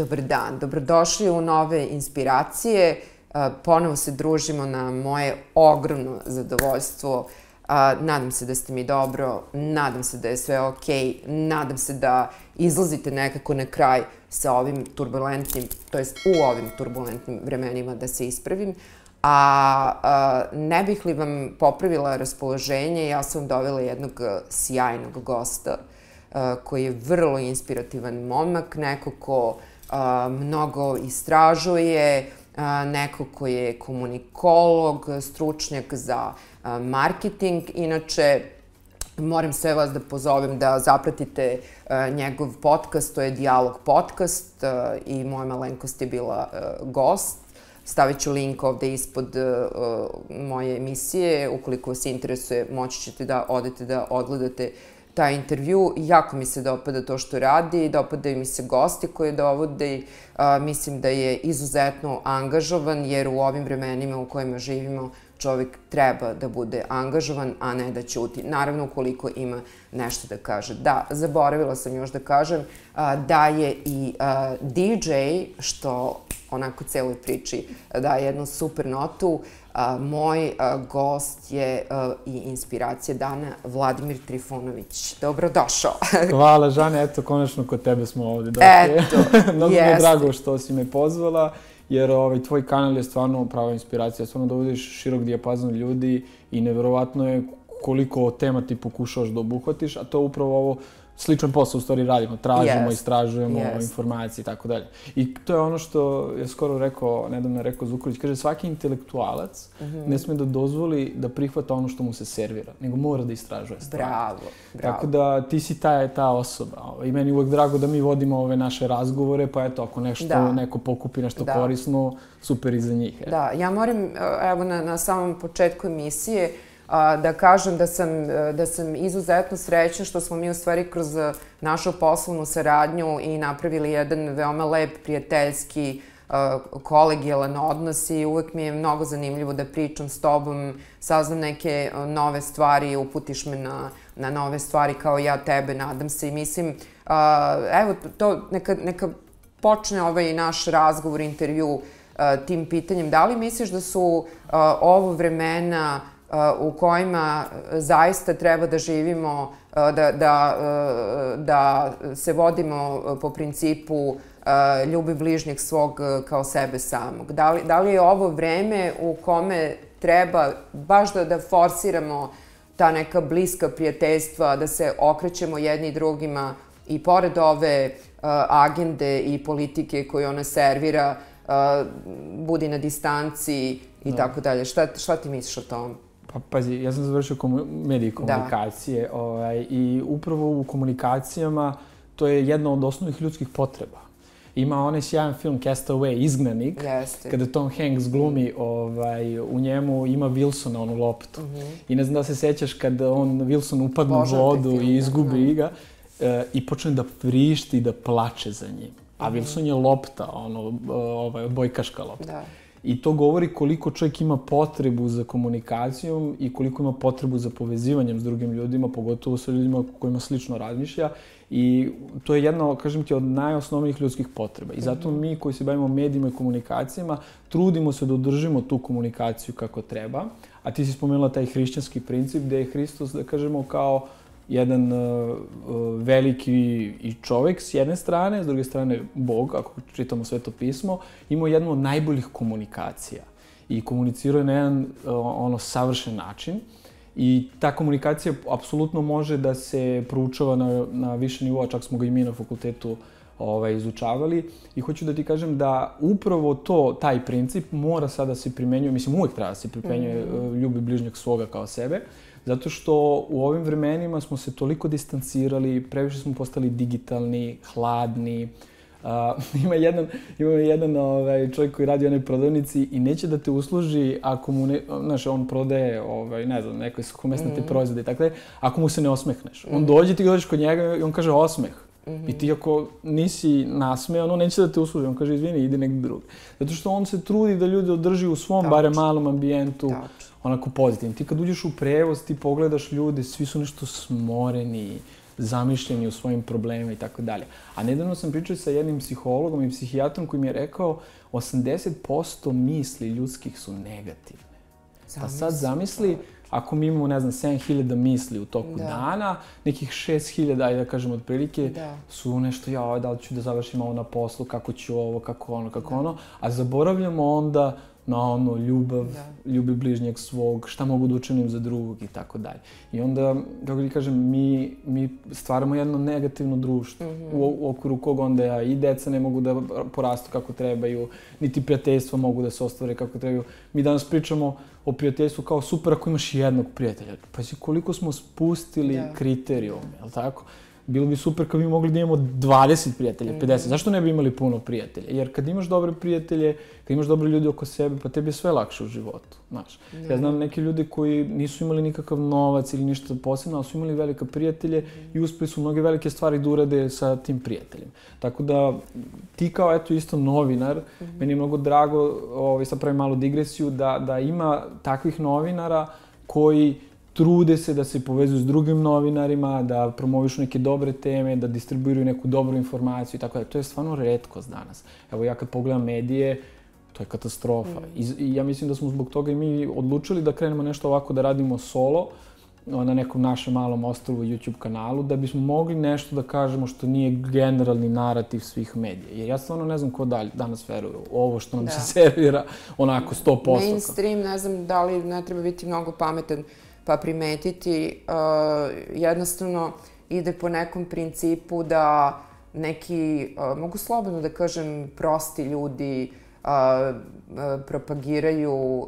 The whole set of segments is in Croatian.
Dobar dan, dobrodošli u Nove inspiracije. Ponovo se družimo na moje ogromno zadovoljstvo. Nadam se da ste mi dobro, nadam se da je sve okej, nadam se da izlazite nekako na kraj sa ovim turbulentnim, to jest u ovim turbulentnim vremenima, da se ispravim. Ne bih li vam popravila raspoloženje, ja sam vam dovela jednog sjajnog gosta koji je vrlo inspirativan momak, neko ko mnogo istražuje, neko ko je komunikolog, stručnjak za marketing. Inače, moram sve vas da pozovem da zapratite njegov podcast, to je Dijalog podcast i moja malenkost je bila gost. Stavit ću link ovde ispod moje emisije. Ukoliko vas interesuje, moći ćete da odete da odgledate taj intervju. Jako mi se dopada to što radi, dopadaju mi se gosti koje dovode. Mislim da je izuzetno angažovan, jer u ovim vremenima u kojima živimo čovjek treba da bude angažovan, a ne da ćuti. Naravno, ukoliko ima nešto da kaže. Da, zaboravila sam još da kažem da je i DJ, što onako celoj priči daje jednu super notu. Moj gost je i inspiracija dana, Vladimir Trifunović. Dobrodošao. Hvala, Žane, eto, konačno kod tebe smo ovdje došli. Mnogo mi je drago što si me pozvala, jer tvoj kanal je stvarno prava inspiracija, stvarno dovodiš širok dijapazon ljudi i neverovatno je koliko tema ti pokušavaš da obuhvatiš, a to je upravo ovo sličan posao u stvari radimo, tražimo, istražujemo informacije i tako dalje. I to je ono što je skoro rekao, nedavno rekao Zukorlić, kaže svaki intelektualac ne sme da dozvoli da prihvata ono što mu se servira, nego mora da istražuje stvari. Bravo. Tako da ti si ta osoba. I meni je uvek drago da mi vodimo ove naše razgovore, pa eto, ako nešto neko pokupi nešto korisno, super i za njih. Da, ja moram, evo na samom početku emisije, da kažem da sam izuzetno srećna što smo mi u stvari kroz našu poslovnu saradnju i napravili jedan veoma lep, prijateljski, kolegijalan odnos i uvek mi je mnogo zanimljivo da pričam s tobom, saznam neke nove stvari, uputiš me na nove stvari kao ja tebe, nadam se i mislim, evo, to neka počne ovaj naš razgovor, intervju tim pitanjem. Da li misliš da su ovo vremena u kojima zaista treba da živimo, da se vodimo po principu ljubi bližnjeg svog kao sebe samog? Da li je ovo vreme u kome treba baš da forsiramo ta neka bliska prijateljstva, da se okrećemo jedni drugima i pored ove agende i politike koju ona servira, budi na distanci i tako dalje? Šta ti misliš o tom? Pa pazi, ja sam završio medije i komunikacije i upravo u komunikacijama to je jedna od osnovnih ljudskih potreba. Ima onaj sjajan film Castaway, Izgnanik, kada Tom Hanks glumi, u njemu ima Wilsona, onu loptu. I ne znam da se sećaš kada Wilson upadne u vodu i izgubi ga i počne da vrišti i da plače za njim. A Wilson je lopta, odbojkaška lopta. I to govori koliko čovjek ima potrebu za komunikacijom i koliko ima potrebu za povezivanjem s drugim ljudima, pogotovo sa ljudima kojima slično razmišlja. I to je jedna, kažem ti, od najosnovnijih ljudskih potreba. I zato mi koji se bavimo medijima i komunikacijama trudimo se da održimo tu komunikaciju kako treba. A ti si spomenula taj hrišćanski princip gde je Hristos, da kažemo, kao jedan veliki i čovjek s jedne strane, s druge strane Bog, ako čitamo Sveto pismo, imao jednu od najboljih komunikacija i komunicirao je na jedan savršen način. I ta komunikacija apsolutno može da se proučava na više nivoa, čak smo ga i mi na fakultetu izučavali. I hoću da ti kažem da upravo taj princip mora sada se primenjuje, mislim uvek treba da se primenjuje ljubi bližnjeg svoga kao sebe, zato što u ovim vremenima smo se toliko distancirali, previše smo postali digitalni, hladni. Ima jedan čovjek koji radi u jednoj prodavnici i neće da te usluži ako mu ne, znaš, on prodaje, ne znam, neke suhomesnate proizvode i tako dalje, ako mu se ne osmehneš. On dođe, ti dođeš kod njega i on kaže osmeh. I ti ako nisi nasmejan, on neće da te usluži, on kaže izvini, ide negdje drugi. Zato što on se trudi da ljude održi u svom barem malom ambijentu, onako pozitivno. Ti kad uđeš u prevoz, ti pogledaš ljude, svi su nešto smoreni, zamišljeni u svojim problemima i tako dalje. A nedavno sam pričao sa jednim psihologom i psihijatrom koji mi je rekao 80% misli ljudskih su negativne. Pa sad zamisli, ako mi imamo, ne znam, 7000 misli u toku dana, nekih 6000, ajde da kažem otprilike, su nešto, da li ću da završim ovo na poslu, kako ću ovo, kako ono, a zaboravljamo onda na ono, ljubav, ljubi bližnjeg svog, šta mogu da učinim za drugog i tako dalje. I onda, kako ti kažem, mi stvaramo jedno negativno društvo u okviru kog onda i deca ne mogu da porastu kako trebaju, niti prijateljstva mogu da se ostvare kako trebaju. Mi danas pričamo o prijateljstvu kao super ako imaš jednog prijatelja. Pa koliko smo spustili kriterijume, je li tako? Bilo bi super kad bi mogli da imamo 20 prijatelja, 50. Zašto ne bi imali puno prijatelja? Jer kad imaš dobre prijatelje, kad imaš dobre ljudi oko sebe, pa tebi je sve lakše u životu, znaš. Ja znam neke ljudi koji nisu imali nikakav novac ili ništa posebno, ali su imali velike prijatelje i uspeli su mnoge velike stvari da urade sa tim prijateljem. Tako da ti kao, eto, isto novinar, meni je mnogo drago, sad pravim malu digresiju, da ima takvih novinara koji trude se da se povezuju s drugim novinarima, da promovišu neke dobre teme, da distribuiraju neku dobru informaciju i tako da. To je stvarno retkost danas. Evo ja kad pogledam medije, to je katastrofa. I ja mislim da smo zbog toga i mi odlučili da krenemo nešto ovako da radimo solo na nekom našem malom ostrvu YouTube kanalu, da bismo mogli nešto da kažemo što nije generalni narativ svih medija. Jer ja stvarno ne znam ko danas veruje u ovo što nam se servira onako 100%. Mainstream, ne znam da li ne treba biti mnogo pametan pa primetiti, jednostavno ide po nekom principu da neki, mogu slobodno da kažem, prosti ljudi propagiraju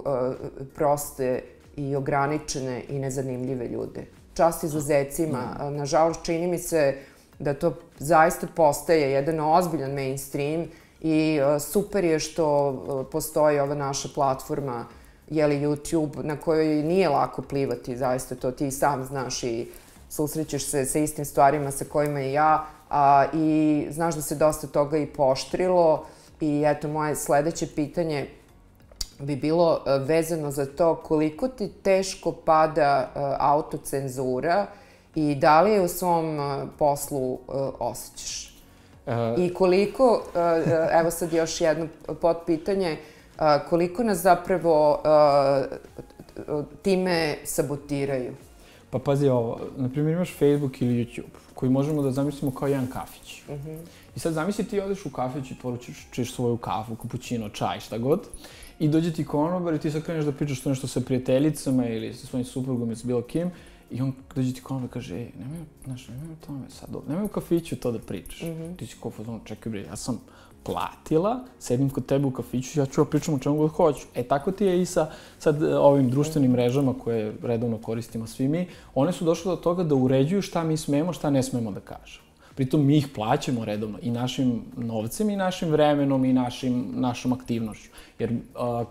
proste i ograničene i nezanimljive ljude. Čast izuzecima. Nažalost, čini mi se da to zaista postaje jedan ozbiljan mainstream i super je što postoji ova naša platforma YouTube, na kojoj nije lako plivati, zaista to ti sam znaš i susrećeš se sa istim stvarima sa kojima i ja, i znaš da se dosta toga i pooštrilo i eto, moje sledeće pitanje bi bilo vezano za to koliko ti teško pada autocenzura i da li je u svom poslu osjećaš? I koliko, evo sad još jedno potpitanje, koliko nas zapravo time sabotiraju? Pa pazi ovo, na primjer imaš Facebook ili YouTube, koji možemo da zamislimo kao jedan kafić. I sad zamisli ti odeš u kafić i poručiš svoju kafu, kapućino, čaj, šta god, i dođe ti konobar i ti sad kreneš da pričaš to nešto sa prijateljicama ili sa svojim suprugom ili sa bilo kim, i on dođe ti konobar i kaže, nemoj o tome sad, nemoj u kafiću to da pričaš. Ti si kao fazon, čekaj bre, ja sam platila, sedim kod tebe u kafiću, ja ću pričam o čemu god hoću. Tako ti je i sa sad ovim društvenim mrežama koje redovno koristimo svi mi, one su došle do toga da uređuju šta mi smemo, šta ne smemo da kažemo. Pritom mi ih plaćamo redovno i našim novcem i našim vremenom i našom aktivnošću. Jer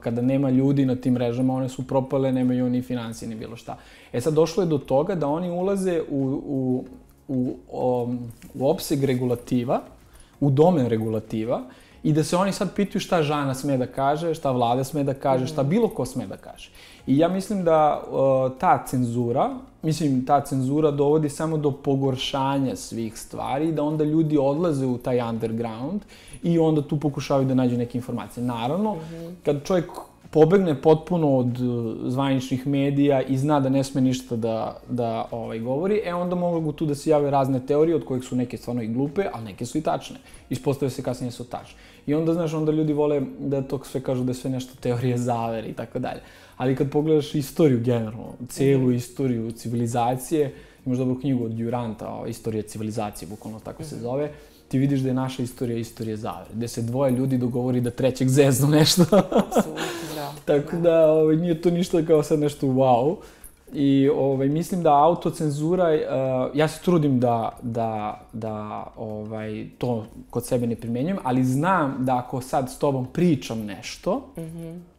kada nema ljudi na tim mrežama, one su propale, nemaju ni financije, ni bilo šta. Sad došlo je do toga da oni ulaze u opseg regulativa, u domen regulativa i da se oni sad pitaju šta žena sme da kaže, šta vlada sme da kaže, šta bilo ko sme da kaže. I ja mislim da ta cenzura dovodi samo do pogoršanja svih stvari i da onda ljudi odlaze u taj underground i onda tu pokušavaju da nađu neke informacije. Naravno, kad čovjek pobegne potpuno od zvaničnih medija i zna da ne sme ništa da govori, onda mogu tu da se jave razne teorije, od kojih su neke stvarno i glupe, ali neke su i tačne. Ispostavlja se kasnije su tačne. I onda, znaš, onda ljudi vole da to sve kažu da je sve nešto teorije zavere i tako dalje. Ali kad pogledaš istoriju generalno, celu istoriju civilizacije, imaš dobru knjigu od Duranta, Istorija civilizacije, bukvalno tako se zove, ti vidiš da je naša istorija zavere, gde se dvoje ljudi dogovori da trećeg zeznu nešto. Tako da nije to ništa kao sad nešto wow. I mislim da autocenzura, ja se trudim da to kod sebe ne primenjujem, ali znam da ako sad s tobom pričam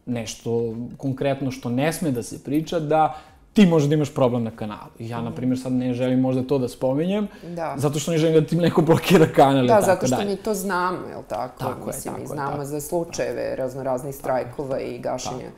nešto konkretno što ne sme da se priča, da ti možda da imaš problem na kanalu. Ja, na primjer, sad ne želim možda to da spominjem, zato što ne želim da ti neko blokira kanal i tako dalje. Da, zato što mi to znamo, je li tako? Mislim, mi znamo za slučajeve raznoraznih strajkova i gašenja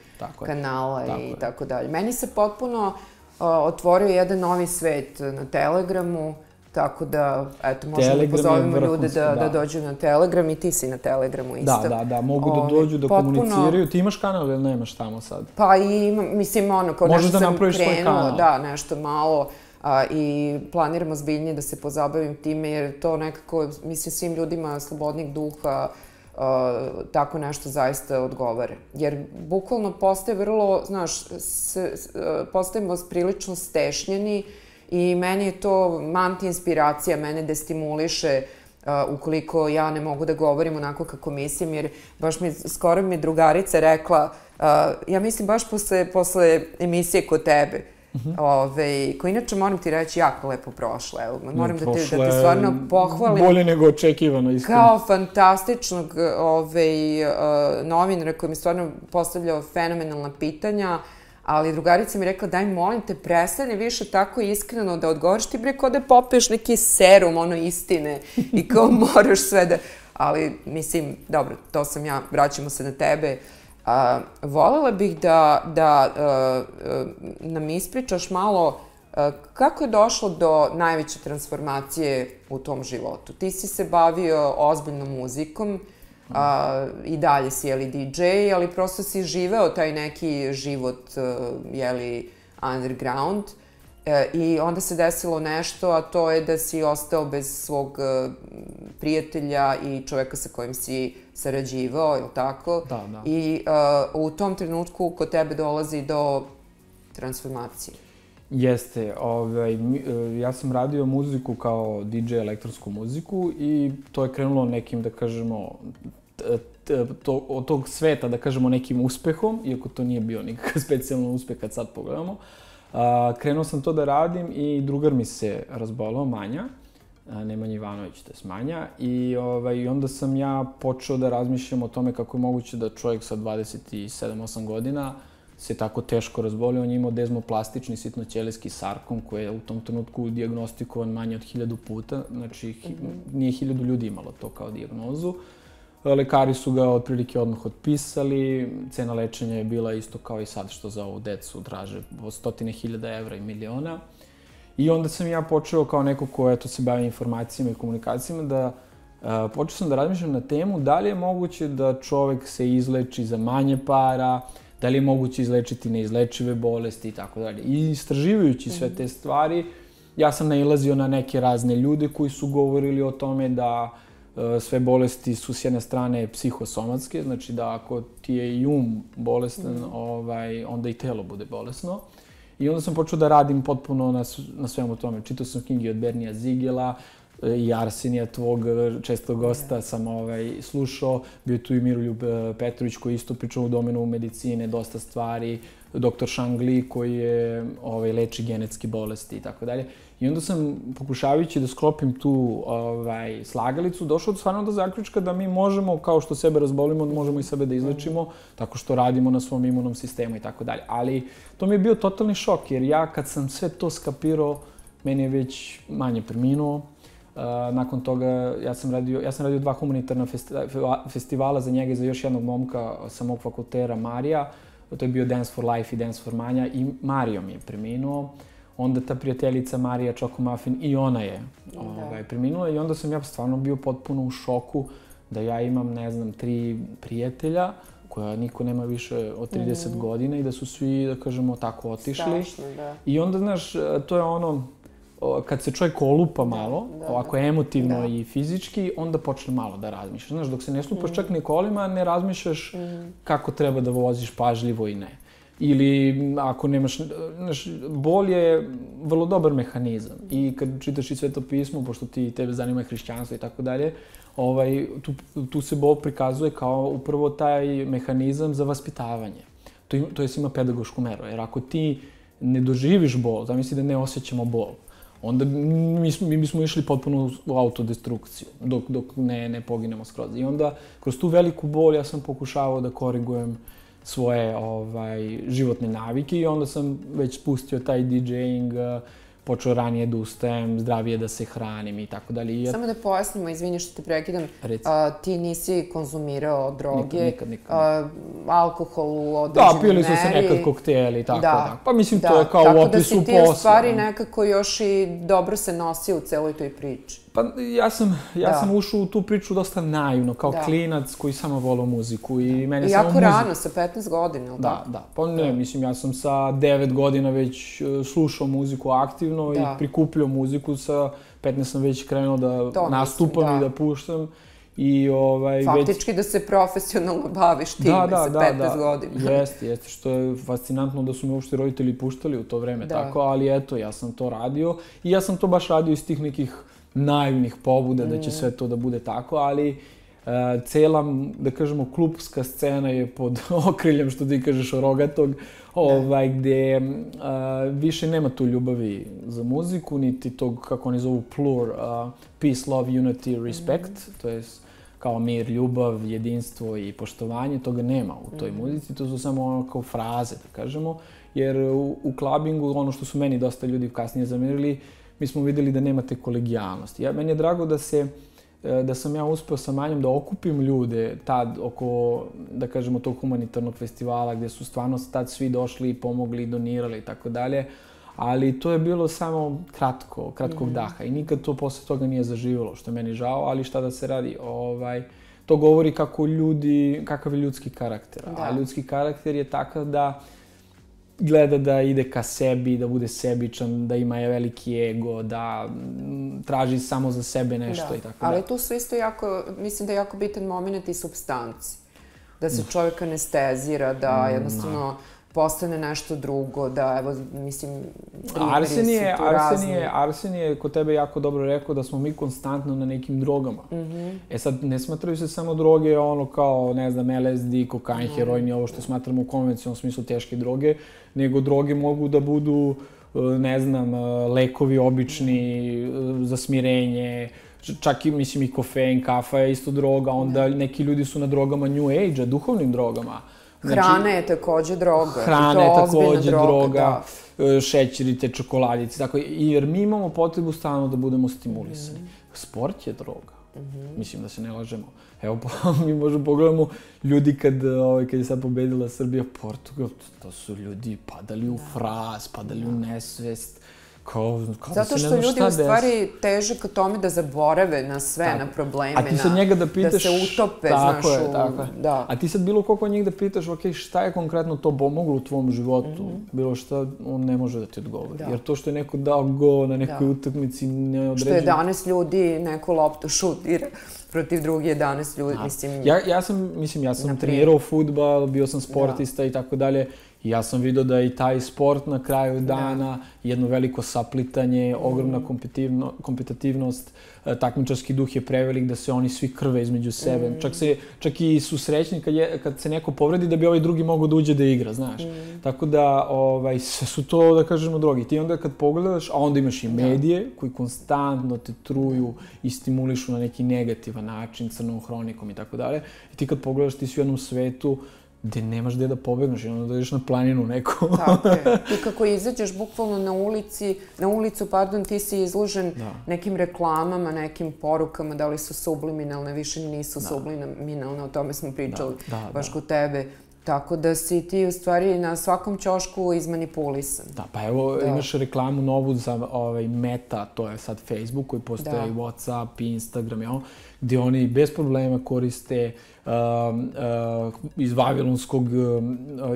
kanala i tako dalje. Meni se potpuno otvorio jedan novi svet na Telegramu, Tako da, eto, možemo da pozovemo ljude da dođu na Telegram i ti si na Telegramu isto. Da, mogu da dođu, da komuniciraju. Ti imaš kanal ili nemaš tamo sad? Pa i, mislim, kao nešto sam krenula, da, nešto malo. I planiramo zbiljnije da se pozabavim time, jer to nekako, mislim, svim ljudima slobodnih duha tako nešto zaista odgovara. Jer bukvalno postaje vrlo, znaš, postajemo prilično stešnjeni i meni je to anti-inspiracija, mene destimuliše ukoliko ja ne mogu da govorim onako kako mislim, jer baš skoro mi drugarica rekla, ja mislim baš posle emisije kod tebe, koji inače moram ti reći jako lepo prošle. Moram da te stvarno pohvalim. Bolje nego očekivano, iskreno. Kao fantastičnog novinara koji mi stvarno postavljao fenomenalna pitanja, ali drugarica mi rekla, daj molim te, prestani više tako iskreno da odgovoriš, ti bre kao da popiješ neki serum, ono istine i kao moraš sve da... Ali, mislim, dobro, to sam ja, vraćamo se na tebe. Volela bih da nam ispričaš malo kako je došlo do najveće transformacije u tom životu. Ti si se bavio ozbiljnom muzikom, i dalje si, DJ, ali prosto si živeo taj neki život, underground, i onda se desilo nešto, a to je da si ostao bez svog prijatelja i čoveka sa kojim si sarađivao, je li tako? Da. I u tom trenutku kod tebe dolazi do transformacije. Jeste. Ja sam radio muziku kao DJ, elektronsku muziku, i to je krenulo nekim, da kažemo, od tog sveta, da kažemo, nekim uspehom, iako to nije bio nikakav specijalno uspeh kad sad pogledamo. Krenuo sam to da radim i drugar mi se razbolao, Manja, Nemanja Ivanović, to je Manja, i onda sam ja počeo da razmišljam o tome kako je moguće da čovjek sa 27-8 godina se tako teško razbolio. On je imao dezmoplastični sitnoćelijski sarkom koji je u tom trenutku dijagnostikovan manje od 1000 puta, znači nije 1000 ljudi imalo to kao dijagnozu. Lekari su ga otprilike odmah otpisali, cena lečenja je bila isto kao i sad što za ovu decu traže od 100.000 evra i miliona. I onda sam ja počeo kao neko ko se bavi informacijama i komunikacijama da počeo sam da razmišljam na temu da li je moguće da čovek se izleči za manje para, da li je moguće izlečiti neizlečive bolesti i tako dalje. I istraživajući sve te stvari, ja sam nailazio na neke razne ljude koji su govorili o tome da sve bolesti su s jedne strane psihosomatske, znači da ako ti je i bolestan, onda i telo bude bolesno. I onda sam počeo da radim potpuno na svemu tome. Čitao sam knjige od Bernija Zigela i Arsenija, tvog čestog gosta, sam slušao. Bio tu i Miroljub Petrović koji isto pričao u domenu medicine, dosta stvari. Dr. Shang Li koji je leči genetske bolesti i tako dalje. I onda sam, pokušavajući da sklopim tu slagalicu, došao stvarno do zaključka da mi možemo, kao što sebe razbolimo, možemo i sebe da izlečimo, tako što radimo na svom imunom sistemu i tako dalje. Ali to mi je bio totalni šok, jer ja kad sam sve to skapirao, meni je već Manje preminuo. Nakon toga ja sam radio 2 humanitarna festivala za njega i za još jednog momka sa mog fakultera, Marija. To je bio Dance for Life i Dance for Manja, i Mario mi je preminuo. Onda ta prijateljica Marija Čokomafin, i ona je preminula, i onda sam ja stvarno bio potpuno u šoku da ja imam, ne znam, 3 prijatelja koja niko nema više od 30 godina i da su svi, da kažemo, tako otišli. Strašno, da. I onda, znaš, to je ono, kad se čovjek olupa malo, ovako emotivno i fizički, onda počne malo da razmišljaš. Znaš, dok se ne slupaš čak ni kolima, ne razmišljaš kako treba da voziš pažljivo i ne. Ili ako nemaš, znaš, bol je vrlo dobar mehanizam. I kad čitaš i Sveto pismo, pošto tebe zanima hrišćanstvo i tako dalje, tu se bol prikazuje kao upravo taj mehanizam za vaspitavanje. To je ima pedagošku meru, jer ako ti ne doživiš bol, zamisli da ne osjećamo bol, onda mi bismo išli potpuno u autodestrukciju, dok ne poginemo skroz. I onda, kroz tu veliku bol, ja sam pokušavao da korigujem svoje životne navike, i onda sam već spustio taj DJing, počeo ranije da ustajem, zdravije da se hranim i tako dalje. Samo da pojasnimo, izvini što te prekidam, ti nisi konzumirao droge, alkohol u određenoj meri. Da, pili su se nekad kokteli i tako da. Pa mislim, to je kao u opisu posla. Tako da si ti u stvari nekako još i dobro se nosio u celoj toj priči. Pa ja sam ušao u tu priču dosta naivno, kao klinac koji samo volao muziku i mene samo muzika. Jako rano, sa 15 godina, ili tako? Da. Pa ne, mislim, ja sam sa 9 godina već slušao muziku aktivno i prikupljao muziku. Sa 15 sam već krenuo da nastupam i da puštam. Faktički da se profesionalno baviš time sa 15 godina. Jeste, što je fascinantno da su me uopšte roditelji puštali u to vreme tako, ali eto, ja sam to radio i ja sam to baš radio iz tih nekih naivnih pobuda da će sve to da bude tako, ali cela, da kažemo, klupska scena je pod okriljem, što ti kažeš, Rogatog, gde više nema tu ljubavi za muziku, niti tog, kako oni zovu, plur, peace, love, unity, respect, to je kao mir, ljubav, jedinstvo i poštovanje, toga nema u toj muzici, to su samo ono kao fraze, da kažemo, jer u klabingu, ono što su meni dosta ljudi kasnije zamerili, mi smo videli da nemate kolegijalnosti. Meni je drago da sam ja uspeo sa Manjom da okupim ljude tad oko, da kažemo, tog humanitarnog festivala gdje su stvarno tad svi došli i pomogli i donirali i tako dalje, ali to je bilo samo kratkog daha i nikad to posle toga nije zaživjelo, što je meni žao, ali šta da se radi, to govori kakav je ljudski karakter, a ljudski karakter je takav da gleda da ide ka sebi, da bude sebičan, da ima veliki ego, da traži samo za sebe nešto i tako da. Ali tu su isto jako, mislim da je jako bitan moment i supstanci. Da se čovjek anestezira, da jednostavno postane nešto drugo, da, evo, mislim, primjeri su tu razni. Arsen je kod tebe jako dobro rekao da smo mi konstantno na nekim drogama. E sad, ne smatraju se samo droge ono kao, ne znam, LSD, kokain, heroin i ovo što smatramo u konvencionalnom smislu teške droge, nego droge mogu da budu, ne znam, lekovi obični za smirenje, čak i, mislim, i kofein, kafa je isto droga, onda neki ljudi su na drogama New Age-a, duhovnim drogama. Hrana je takođe droga. Hrana je takođe droga, šećeri, te čokoladice, tako, jer mi imamo potrebu stalno da budemo stimulisani. Sport je droga. Mislim da se ne lažemo. Evo, mi možemo pogledamo ljudi kad je sad pobedila Srbija Portugal, to su ljudi padali u fraz, padali u nesvest, zato što ljudi u stvari teže ka tome da zaborave na sve, na probleme, da se utope, znaš, a ti sad bilo koliko od njih da pitaš, ok, šta je konkretno to pomoglo u tvom životu, bilo šta, on ne može da ti odgovori. Jer to što je neko dao go na nekoj utakmici ne određuje. Što 11 ljudi neku loptu šutira protiv drugih 11 ljudi, mislim. Ja sam trenirao fudbal, bio sam sportista i tako dalje. I ja sam vidio da i taj sport na kraju dana, jedno veliko saplitanje, ogromna kompetitivnost, takmičarski duh je prevelik da se oni svi krve između sebe. Čak i su srećni kad se neko povredi da bi ovaj drugi mogao da uđe da igra, znaš. Tako da sve su to, da kažemo, drogi. Ti onda kad pogledaš, a onda imaš i medije koji konstantno te truju i stimulišu na neki negativan način, crnom hronikom i tako dalje. I ti kad pogledaš, ti si u jednom svetu gde nemaš gde da pobegneš i onda da ideš na planinu neku. Tako je. Ti kako izađeš bukvalno na ulicu, ti si izložen nekim reklamama, nekim porukama, da li su subliminalne, više nisu subliminalne, o tome smo pričali baš kod tebe. Tako da si ti u stvari na svakom ćošku izmanipulisan. Da, pa evo imaš reklamu novu za Meta, to je sad Facebook koji postoje i Whatsapp i Instagram, gdje oni bez problema koriste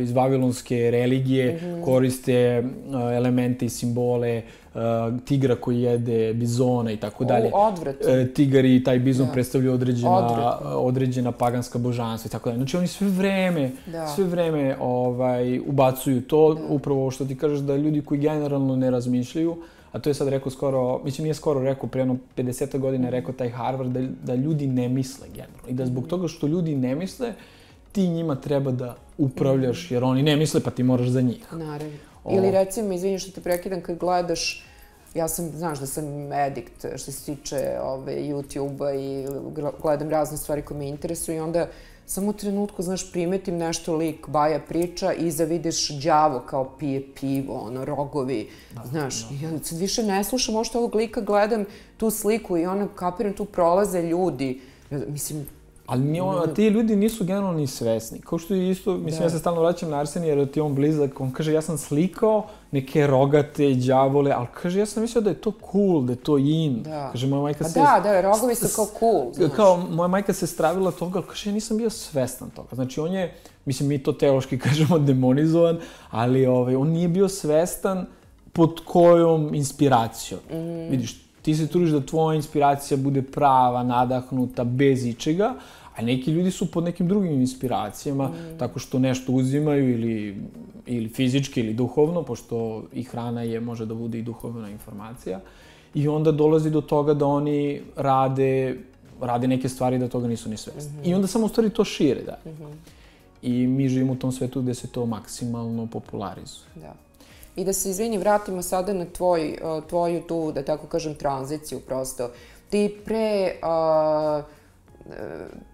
iz vavilonske religije, koriste elemente i simbole tigra koji jede bizona i tako dalje. Tigar i taj bizon predstavljaju određena paganska božanstva i tako dalje. Znači oni sve vreme ubacuju to, upravo ovo što ti kažeš, da ljudi koji generalno ne razmišljaju, a to je sad rekao skoro, mislim nije skoro rekao, prije 50 godina je rekao taj Harvard, da ljudi ne misle generalno. I da zbog toga što ljudi ne misle, ti njima treba da upravljaš, jer oni ne misle, pa ti moraš za njih. Naravno. Ili recimo, izvini što te prekidam, kad gledaš, znaš da sam edikt što se tiče YouTube-a i gledam razne stvari koje me interesuju i onda samo u trenutku, znaš, primetim nešto lik, Baja priča, i iza vidiš đavo kao pije pivo, ono, rogovi, znaš. Ja sad više ne slušam ovo što ovog lika, gledam tu sliku i ono, kapiram, tu prolaze ljudi. Mislim, ali ti ljudi nisu generalno ni svesni. Kao što je isto, mislim, ja se stalno vraćam na Arsenija jer ti je on blizak, on kaže, ja sam slikao neke rogate, đavole, ali kaže, ja sam mislio da je to cool, da je to in. Kaže, moja majka se... Da, rogovi su kao cool, znaš. Kao, moja majka se stravila toga, ali kaže, ja nisam bio svestan toga. Znači, on je, mislim, mi to teološki kažemo demonizovan, ali on nije bio svestan pod kojom inspiracijom. Vidiš, ti se trudiš da tvoja inspiracija bude prava, nadahnuta, bez ičega, a neki ljudi su pod nekim drugim inspiracijama, tako što nešto uzimaju ili fizički ili duhovno, pošto i hrana može da bude i duhovna informacija, i onda dolazi do toga da oni rade neke stvari da toga nisu ni svesni. I onda samo u stvari to šire, da. I mi živimo u tom svetu gde se to maksimalno popularizuje. Da. I da se, izvini, vratimo sada na tvoju tu, da tako kažem, tranziciju prosto. Ti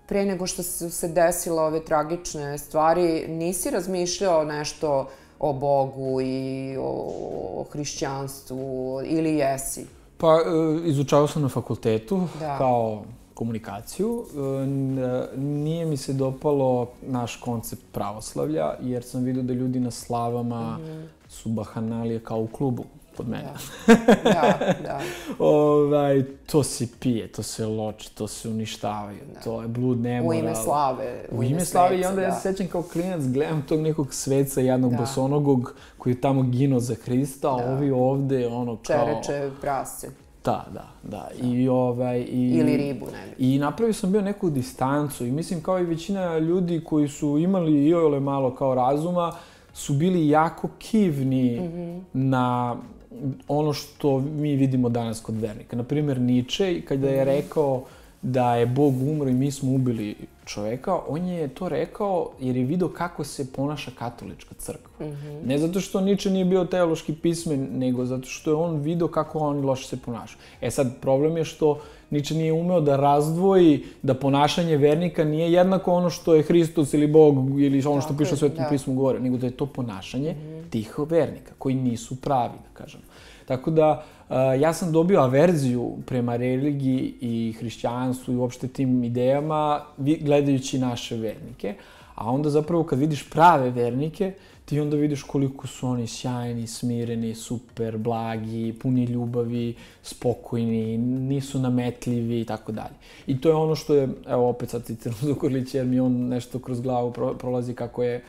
pre nego što su se desile ove tragične stvari, nisi razmišljao nešto o Bogu i o hrišćanstvu, ili jesi? Pa, izučavao sam na fakultetu kao komunikaciju. Nije mi se dopalo naš koncept pravoslavlja, jer sam vidio da ljudi na slavama su bahanalije kao u klubu kod mene. Da. To se pije, to se loči, to se uništavaju, to je blud nemoral. U ime slave. U ime slave, i onda ja se sećam kao klinac, gledam tog nekog sveca, jednog bosonogog koji je tamo ginuo za Hrista, a ovi ovde, ono kao... Čereče prasce. Da. Ili ribu, ne bi. I napravio sam bio neku distancu i mislim kao i većina ljudi koji su imali iole malo kao razuma, su bili jako kivni na ono što mi vidimo danas kod vernika. Naprimjer, Nietzsche, kada je rekao da je Bog umro i mi smo ubili čoveka, on je to rekao jer je vidio kako se ponaša katolička crkva. Ne zato što Nietzsche nije bio teološki pismen, nego zato što je on vidio kako oni loše se ponašaju. Sad, problem je što Nietzsche nije umeo da razdvoji da ponašanje vernika nije jednako ono što je Hristos ili Bog ili ono što piše u Svetom pismu govore, nego da je to ponašanje tih vernika koji nisu pravi, da kažem. Tako da, ja sam dobio averziju prema religiji i hrišćanstvu i uopšte tim idejama gledajući naše vernike, a onda zapravo kad vidiš prave vernike, ti onda vidiš koliko su oni sjajni, smireni, super, blagi, puni ljubavi, spokojni, nisu nametljivi i tako dalje. I to je ono što je, evo opet sad citiram Zukorlića jer mi on nešto kroz glavu prolazi kako je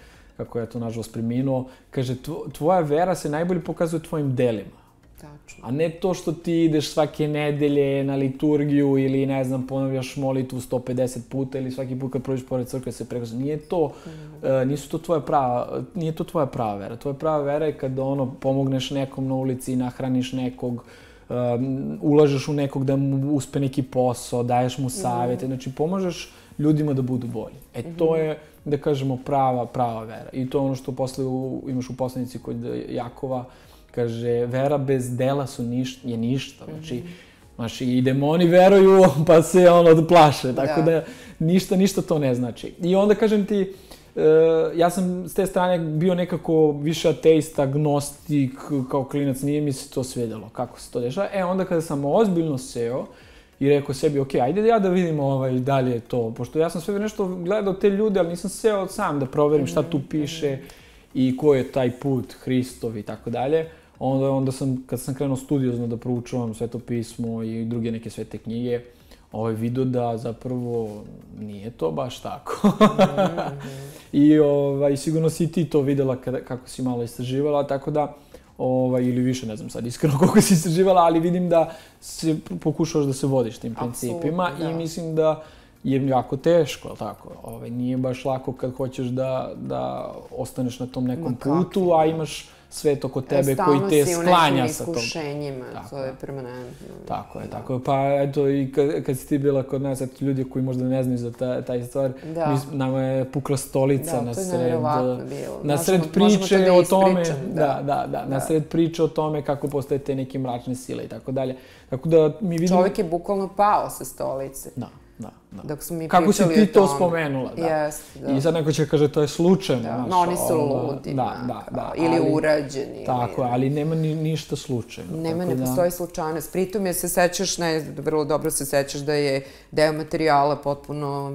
to nažalost preminuo. Kaže, tvoja vera se najbolje pokazuje tvojim delima. Tačno. A ne to što ti ideš svake nedelje na liturgiju ili, ne znam, ponavljaš molitvu 150 puta ili svaki put kad prođeš pored crkve se prekrašaš. Nije to tvoja prava vera. Tvoja prava vera je kada pomogneš nekom na ulici, nahraniš nekog, ulažeš u nekog da mu uspe neki posao, daješ mu savjete. Znači, pomažeš ljudima da budu bolji. To je, da kažemo, prava vera. I to je ono što posle imaš u poslanici kod Jakova, kaže, vera bez dela je ništa. Znači, i demoni veruju, pa se plaše. Tako da ništa to ne znači. I onda, kažem ti, ja sam s te strane bio nekako više ateista, agnostik, kao klinac, nije mi se to svidjelo kako se to dešava. Onda kada sam ozbiljno seo i rekao sebi, ok, ajde ja da vidim dalje to, pošto ja sam sve nešto gledao te ljude, ali nisam seo sam da proverim šta tu piše i ko je taj put Hristov i tako dalje. Onda sam, kad sam krenuo studiozno da proučavam Sveto pismo i druge neke svete knjige, vidio da zapravo nije to baš tako. I sigurno si ti to videla kako si malo istraživala, tako da, ili više, ne znam sad iskreno koliko si istraživala, ali vidim da se pokušavaš da se vodiš tim principima i mislim da je jako teško, ali tako? Nije baš lako kad hoćeš da ostaneš na tom nekom putu, a imaš svet oko tebe koji te sklanja sa tom. Stalno si u nekim iskušenjima, to je permanentno. Tako je. Pa eto, i kad si ti bila kod nas, eto, ljudi koji možda ne znaju za taj stvar, nama je pukla stolica na sred priče o tome. Na sred priče o tome kako postoje te neke mračne sile i tako dalje. Tako da mi vidimo... Čovjek je bukvalno pao sa stolice. Da. Da. Dok smo mi kako pričali o si ti to tome. spomenula, da. Jeste, da. I sad neko će kaže to je slučajno. Da, no oni su ludi, da, ili urađeni. Tako je, ali nema ništa slučajno. Nema, ne postoji slučajnost. Pritom je se sećaš, vrlo dobro se sećaš da je deo materijala potpuno,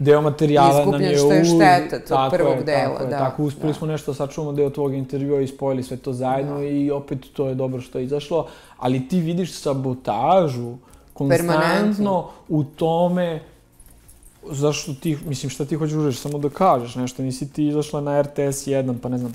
deo materijala izgubljen, što je šteta tog prvog dela. Tako, uspeli smo nešto sačuvamo deo tvojeg intervjua i spojili sve to zajedno i opet to je dobro što je izašlo, ali ti vidiš sabotažu konstantno u tome zašto ti, mislim, šta ti hoćeš reći, samo da kažeš nešto, nisi ti izašla na RTS 1, pa ne znam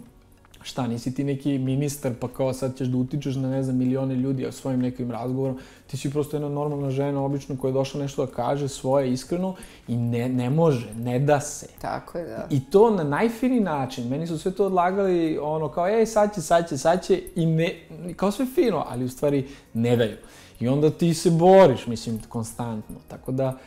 šta, nisi ti neki ministar, pa kao sad ćeš da utičeš na, ne znam, milione ljudi svojim nekim razgovorom, ti si prosto jedna normalna žena, obično, koja je došla nešto da kaže svoje iskreno i ne može, ne da se. Tako je, da. I to na najfiniji način, meni su sve to odlagali, ono, kao, sad će, i ne, kao sve fino, ali u stvari ne daju. I onda ti se boriš, mislim, konstantno, tako da,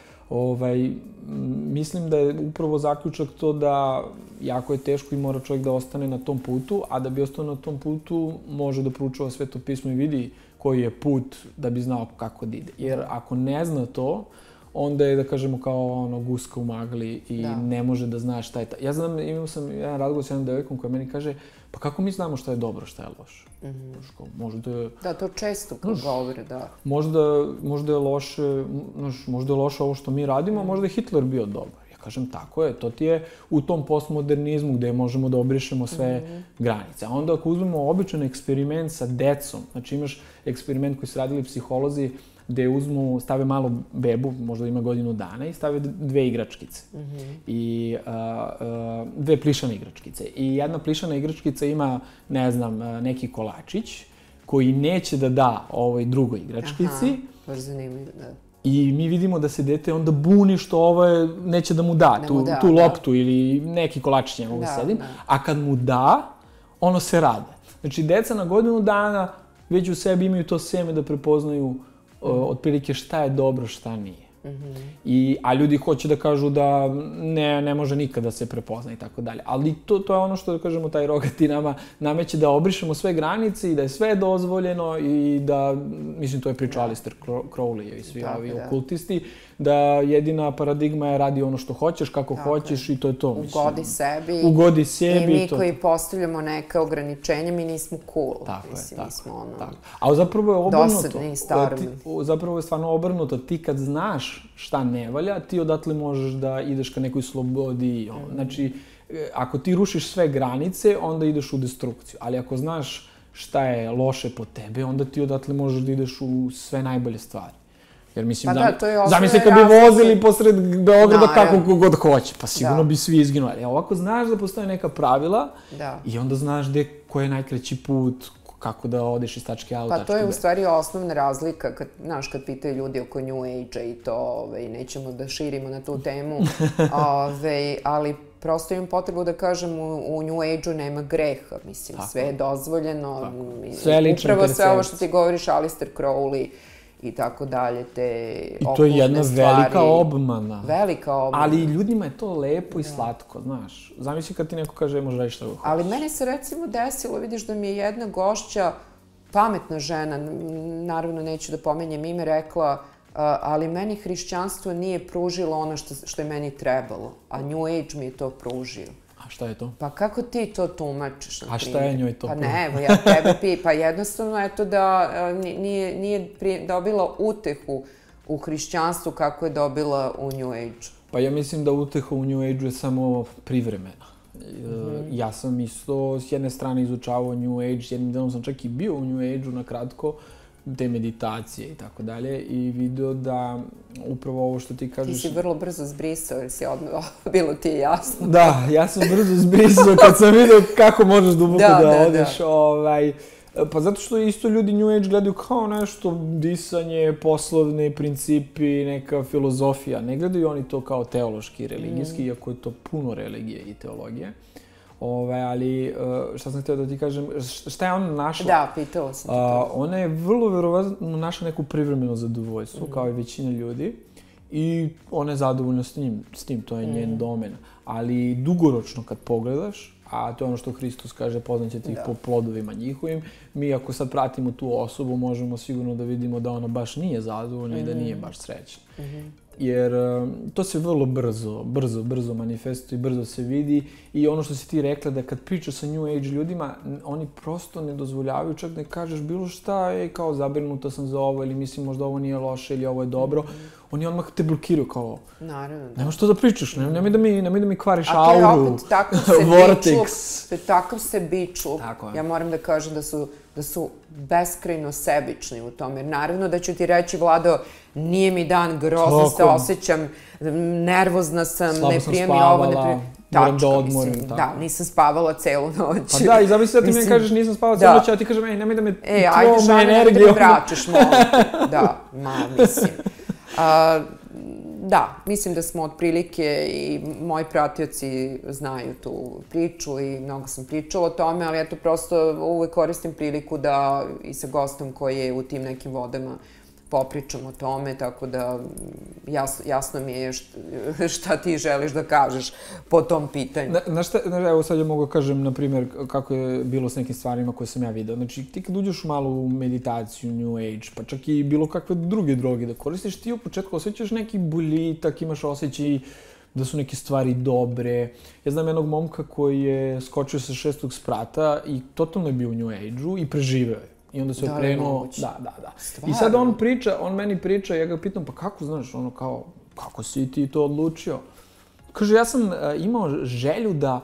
mislim da je upravo zaključak to da jako je teško i mora čovjek da ostane na tom putu, a da bi ostao na tom putu može da proučava Sveto pismo i vidi koji je put da bi znao kako da ide. Jer ako ne zna to, onda je, da kažemo, kao guska u magli i ne može da zna šta je ta. Ja znam, imao sam jedan razgovor s jednom devojkom koja meni kaže, pa kako mi znamo šta je dobro, šta je loše? Možda... Da, to često govore, da. Možda je loše ovo što mi radimo, a možda je Hitler bio dobar. Ja kažem, tako je, to ti je u tom postmodernizmu gde možemo da obrišemo sve granice. A onda ako uzmemo običan eksperiment sa decom, znači imaš eksperiment koji su radili psiholozi, gde stave malu bebu, možda ima godinu dana, i stave 2 igračkice. I 2 plišane igračkice. I jedna plišana igračkica ima, ne znam, neki kolačić koji neće da da ovoj drugoj igračkici. Baš zanimljivo, da. I mi vidimo da se dete onda buni što ovo neće da mu da tu loptu ili neki kolačić ne mogu da sedim. A kad mu da, ono se rade. Znači, deca na godinu dana već u sebi imaju to seme da prepoznaju otprilike šta je dobro, šta nije. A ljudi hoće da kažu da ne može nikada da se prepozna i tako dalje. Ali to je ono što, da kažemo, taj rogati nama nameće da obrišemo sve granice i da je sve dozvoljeno i da, mislim, to je pričao Alistair Crowley i svi ovi okultisti, da jedina paradigma je radi ono što hoćeš, kako hoćeš i to je to. Ugodi sebi. I mi koji postavljamo neke ograničenja, mi nismo cool. Mislim, mi smo ono... A zapravo je obrnuto. Dosadni i starni. Zapravo je stvarno obrnuto. Ti kad znaš šta ne valja, ti odatle možeš da ideš ka nekoj slobodi. Znači, ako ti rušiš sve granice, onda ideš u destrukciju. Ali ako znaš šta je loše po tebe, onda ti odatle možeš da ideš u sve najbolje stvari. Jer mislim, zamisli kad bi vozili posred Beograda kako god hoće, pa sigurno bi svi izginuli. Ovako znaš da postoje neka pravila i onda znaš koji je najkraći put, kako da odeš iz tačke A u tačku B. Pa to je u stvari osnovna razlika, znaš, kad pitaju ljudi oko New Age-a i to, nećemo da širimo na tu temu, ali prosto imam potrebu da kažem, u New Age-u nema greha, mislim, sve je dozvoljeno. Sve je lična percepcija. Upravo sve ovo što ti govoriš, Alistair Crowley i tako dalje, te okultne stvari. I to je jedna velika obmana. Velika obmana. Ali ljudima je to lepo i slatko, znaš. Zamisli kad ti neko kaže, može raditi šta ga hoćeš. Ali meni se recimo desilo, vidiš da mi je jedna gošća, pametna žena, naravno neću da pomenjem ime, rekla, ali meni hrišćanstvo nije pružilo ono što je meni trebalo, a New Age mi je to pružio. A šta je to? Pa kako ti to tumačiš, na primjer? A šta je njoj to? Pa ne, evo, ja tebe pa jednostavno je to da nije dobila utehu u hrišćanstvu kako je dobila u New Age. Pa ja mislim da uteha u New Age je samo privremena. Ja sam isto s jedne strane izučavao New Age, jednim delom sam čak i bio u New Age-u na kratko, te meditacije i tako dalje, i video da upravo ovo što ti kažeš... Ti si vrlo brzo zbrisao, jer si odmah, bilo ti je jasno. Da, ja sam brzo zbrisao kad sam vidio kako možeš duboko da odeš. Pa zato što isto ljudi New Age gledaju kao nešto disanje, poslovne principi, neka filozofija. Ne gledaju oni to kao teološki i religijski, iako je to puno religije i teologije. Ali, šta sam htio da ti kažem, šta je ona našla? Da, pitala sam ti to. Ona je vrlo verovatno našla neku privremeno zadovoljstvo, kao i većina ljudi. I ona je zadovoljna s tim, to je njen domen. Ali dugoročno kad pogledaš, a to je ono što Hristos kaže, poznaćete ih po plodovima njihovim, mi ako sad pratimo tu osobu, možemo sigurno da vidimo da ona baš nije zadovoljna i da nije baš srećna. jer to se vrlo brzo manifestuje, brzo se vidi i ono što si ti rekla da kad pričaš sa New Age ljudima, oni prosto ne dozvoljavaju čak da kažeš bilo šta, kao zabrinuta sam za ovo ili mislim možda ovo nije loše ili ovo je dobro. Oni odmah te blokiraju kao, nema što da pričaš, nemoj da mi kvariš auru, vortex. To je takav sebičluk. Ja moram da kažem da su beskrajno sebični u tome. Jer naravno da ću ti reći, Vlado, nije mi dan, grozno se osjećam, nervozna sam, ne prije mi ovo, ne prije... Moram da odmorim. Da, nisam spavala celu noć. Pa da, i zamisli da ti mi kažeš nisam spavala celu noć, a ti kažem, nemoj da me tvom energijom... Da me vraćaš, molim. Da, mislim. Da, mislim da smo otprilike i moji pratioci znaju tu priču i mnogo sam pričala o tome, ali eto prosto uvek koristim priliku da i sa gostom koji je u tim nekim vodama popričam o tome, tako da jasno mi je šta ti želiš da kažeš po tom pitanju. Znaš šta, evo sad ja mogu kažem, na primjer, kako je bilo s nekim stvarima koje sam ja video. Znači, ti kad uđeš malo u meditaciju, New Age, pa čak i bilo kakve druge droge da koristiš, ti u početku osjećaš neki boljitak, imaš osjećaj da su neke stvari dobre. Ja znam jednog momka koji je skočio sa 6. sprata i totalno je bio u New Age-u i preživeo je. I onda se okrenuo, da. I sad on meni priča, ja ga pitam, pa kako znaš, ono kao, kako si ti to odlučio? Kaže, ja sam imao želju da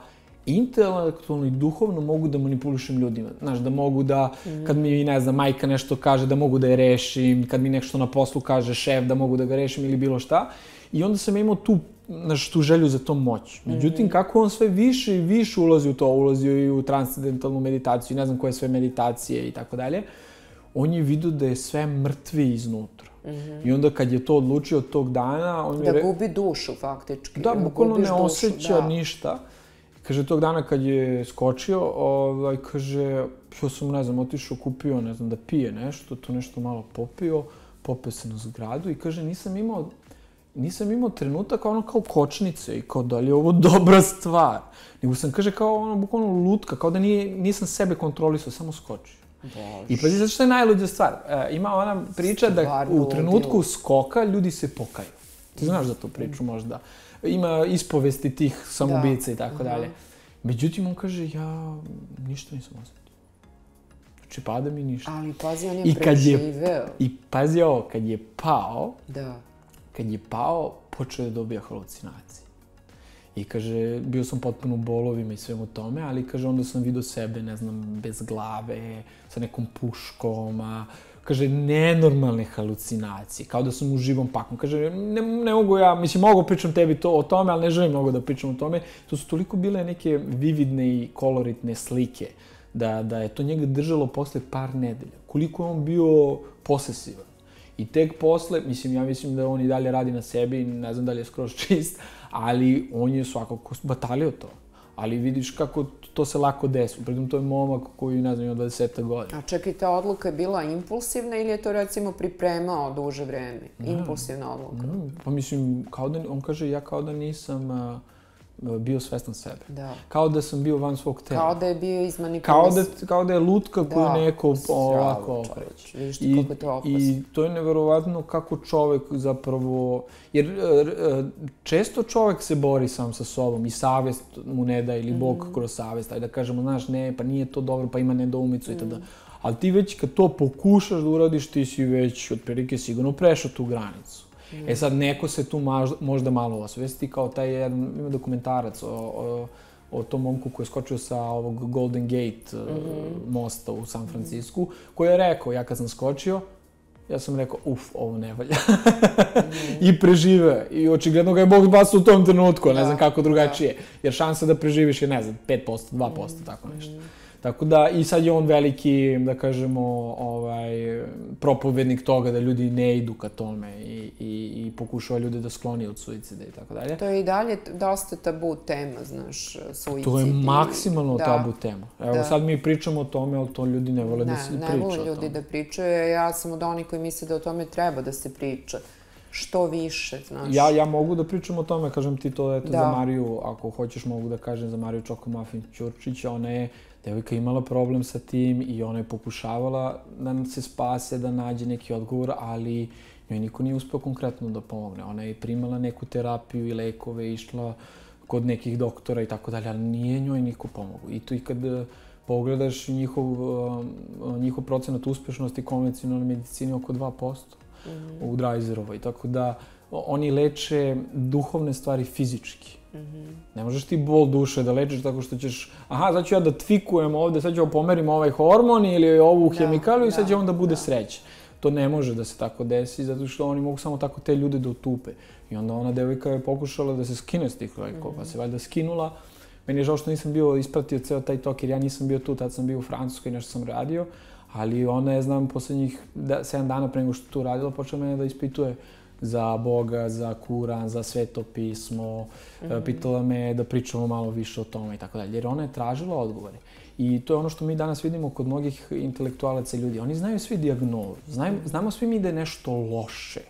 intelektualno i duhovno mogu da manipulišem ljudima. Znaš, da mogu da, kad mi, ne znam, majka nešto kaže, da mogu da je rešim, kad mi nešto na poslu kaže šef, da mogu da ga rešim ili bilo šta. I onda sam imao tu želju za tom moć. Međutim, kako on sve više i više ulazi u to, ulazio i u transcendentalnu meditaciju, ne znam koje sve meditacije i tako dalje, on je vidio da je sve mrtvi iznutra. I onda kad je to odlučio od tog dana... Da gubi dušu, faktički. Da, bukvalno ne osjeća ništa. Kaže, tog dana kad je skočio, kaže, ja sam, ne znam, otišao, kupio, ne znam, da pije nešto, to nešto malo popio se na zgradu i kaže, nisam imao trenutak kao kočnice i kao da li je ovo dobra stvar. Nego sam, kaže, kao bukvalno lutka, kao da nisam sebe kontrolisao, samo skočio. I pazi, zato što je najluđa stvar. Ima ona priča da u trenutku skoka ljudi se pokaju. Ti znaš za tu priču možda. Ima ispovesti tih samoubica i tako dalje. Međutim, on kaže, ja ništa nisam osjetio. Znači, pada mi ništa. Ali pazi, on je preživeo. I pazi ovo, kad je pao, počeo je da dobija halucinacije. I kaže, bio sam potpuno u bolovima i svemu tome, ali kaže, onda sam vidio sebe, ne znam, bez glave, sa nekom puškom, kaže, nenormalne halucinacije, kao da sam u živom paklu. Kaže, ne mogu ja, mislim, mogu pričam tebi o tome, ali ne želim mnogo da pričam o tome. To su toliko bile neke vividne i koloritne slike, da je to njega držalo posle par nedelja. Koliko je on bio posesivan. I tek posle, ja mislim da on i dalje radi na sebi, ne znam da li je skroz čist, ali on je svakako batalio to. Ali vidiš kako to se lako desi. Pritom to je momak koji, ne znam, ima 20 godina. A čekaj, ta odluka je bila impulsivna ili je to recimo pripremao duže vreme? Impulsivna odluka? Pa mislim, on kaže, ja kao da nisam bio svestan sebe. Da. Kao da sam bio van svog tela. Kao da je bio izmanipulisan. Kao da je lutka koju neko ovako okreće. Vidiš ti kako je to opasno. I to je neverovatno kako čovek zapravo... Jer često čovek se bori sam sa sobom i savest mu ne da, ili Bog kroz savest. Ajde da kažemo, znaš, ne, pa nije to dobro, pa ima nedoumicu i tada. Ali ti već kad to pokušaš da uradiš, ti si već otprilike sigurno prešao tu granicu. E sad, neko se tu možda malo osvesti, kao taj jedan, ima dokumentarac o tom momku koji je skočio sa ovog Golden Gate mosta u San Francisku, koji je rekao, ja kad sam skočio, ja sam rekao, ovo ne valja. I preživeo. I očigledno ga je Bog basao u tom trenutku, ne znam kako drugačije. Jer šansa da preživiš je, ne znam, 5%, 2%, tako nešto. Tako da, i sad je on veliki, da kažemo, propovednik toga da ljudi ne idu ka tome i pokušava ljude da skloni od suicida i tako dalje. To je i dalje dosta tabu tema, znaš, suicid. To je maksimalno tabu tema. Evo, sad mi pričamo o tome, ali to ljudi ne vole da se priča o tome. Ne vole ljudi da pričaju, ja sam od onih koji misle da o tome treba da se priča. Što više, znaš. Ja mogu da pričam o tome, kažem ti to, eto, za Mariju, ako hoćeš mogu da kažem za Mariju Čokomuffin Ćurčić, ona je Devojka je imala problem sa tim i ona je pokušavala da se spase, da nađe neki odgovor, ali njoj niko nije uspeo konkretno da pomogne. Ona je primala neku terapiju i lekove, išla kod nekih doktora i tako dalje, ali nije njoj niko pomogao. I to i kad pogledaš njihov procenat uspešnosti konvencionalne medicine oko 2% u Dreiserovoj. Tako da oni leče duhovne stvari fizički. Ne možeš ti bol duše da lečiš tako što ćeš, sad ću ja da tvikujem ovde, sad ću pomerim ovaj hormon ili ovu hemikaliju i sad će on da bude srećan. To ne može da se tako desi, zato što oni mogu samo tako te ljude da otupe. I onda ona devojka je pokušala da se skine s tih lekova, pa se valjda skinula. Meni je žao što nisam bio ispratio ceo taj tok, jer ja nisam bio tu, tad sam bio u Francuskoj, nešto sam radio, ali ona je, znam, poslednjih 7 dana pre nego što tu radila, počela mene da ispituje za Boga, za Kuran, za Sveto pismo, pitala me da pričamo malo više o tome i tako dalje, jer ona je tražila odgovore. I to je ono što mi danas vidimo kod mnogih intelektualaca i ljudi. Oni znaju svi dijagnozu, znamo svi mi da je nešto loše,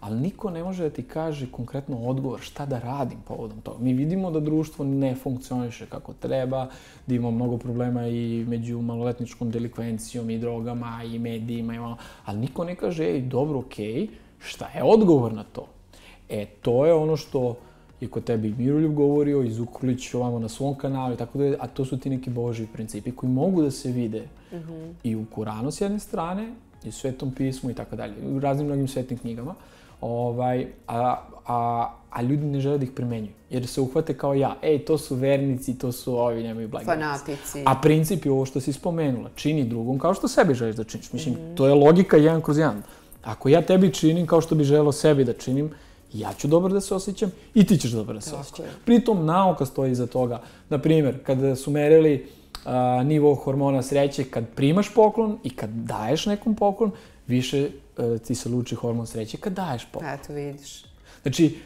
ali niko ne može da ti kaže konkretno odgovor šta da radim povodom toga. Mi vidimo da društvo ne funkcioniše kako treba, da ima mnogo problema i među maloletničkom delikvencijom i drogama i medijima, ali niko ne kaže, dobro, okej, šta je odgovor na to? To je ono što je kod tebe i Miroljub govorio, i Zukorlić ovamo na svom kanalu i tako da, a to su ti neki Božji principi koji mogu da se vide i u Kuranu s jedne strane, i u Svetom pismu i tako dalje, u raznim mnogim svetnim knjigama, a ljudi ne žele da ih primenjuju, jer se uhvate kao ja, to su vernici, to su ovi, nemaju blagi. Fanatici. A princip je ovo što si spomenula, čini drugom kao što sebi želiš da činiš. Mislim, to je logika 1/1. Ako ja tebi činim kao što bi želeo sebi da činim, ja ću dobro da se osjećam i ti ćeš dobro da se osjećam. Pritom nauka stoji iza toga. Naprimjer, kada su merili nivo hormona sreće, kad primaš poklon i kad daješ nekom poklon, više ti se luči hormon sreće kad daješ poklon. Eto, vidiš. Znači,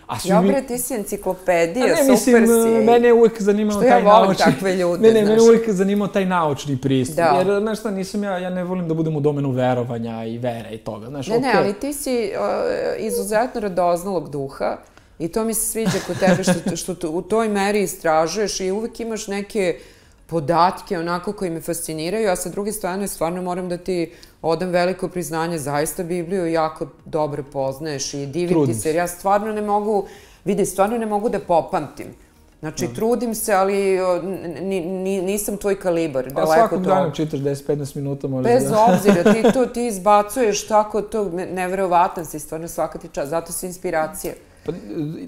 ti si enciklopedija, super si. Mene je uvijek zanimao taj naučni... Što ja volim takve ljude, znaš. Mene je uvijek zanimao taj naučni pristup. Jer, znaš šta, ja ne volim da budem u domenu verovanja i vere i toga. Ne, ali ti si izuzetno radoznalog duha i to mi se sviđa kod tebe što u toj meri istražuješ i uvijek imaš neke podatke onako koji me fasciniraju, a sa druge strane stvarno moram da ti odam veliko priznanje, zaista Bibliju jako dobro poznaješ i divim ti se, jer ja stvarno ne mogu da popamtim. Znači, trudim se, ali nisam tvoj kalibar, daleko to. A svakog dana čitaš 10-15 minuta možda. Bez obzira, ti izbacuješ tako, to neverovatan si, stvarno svaka ti čast, zato si inspiracija. Pa,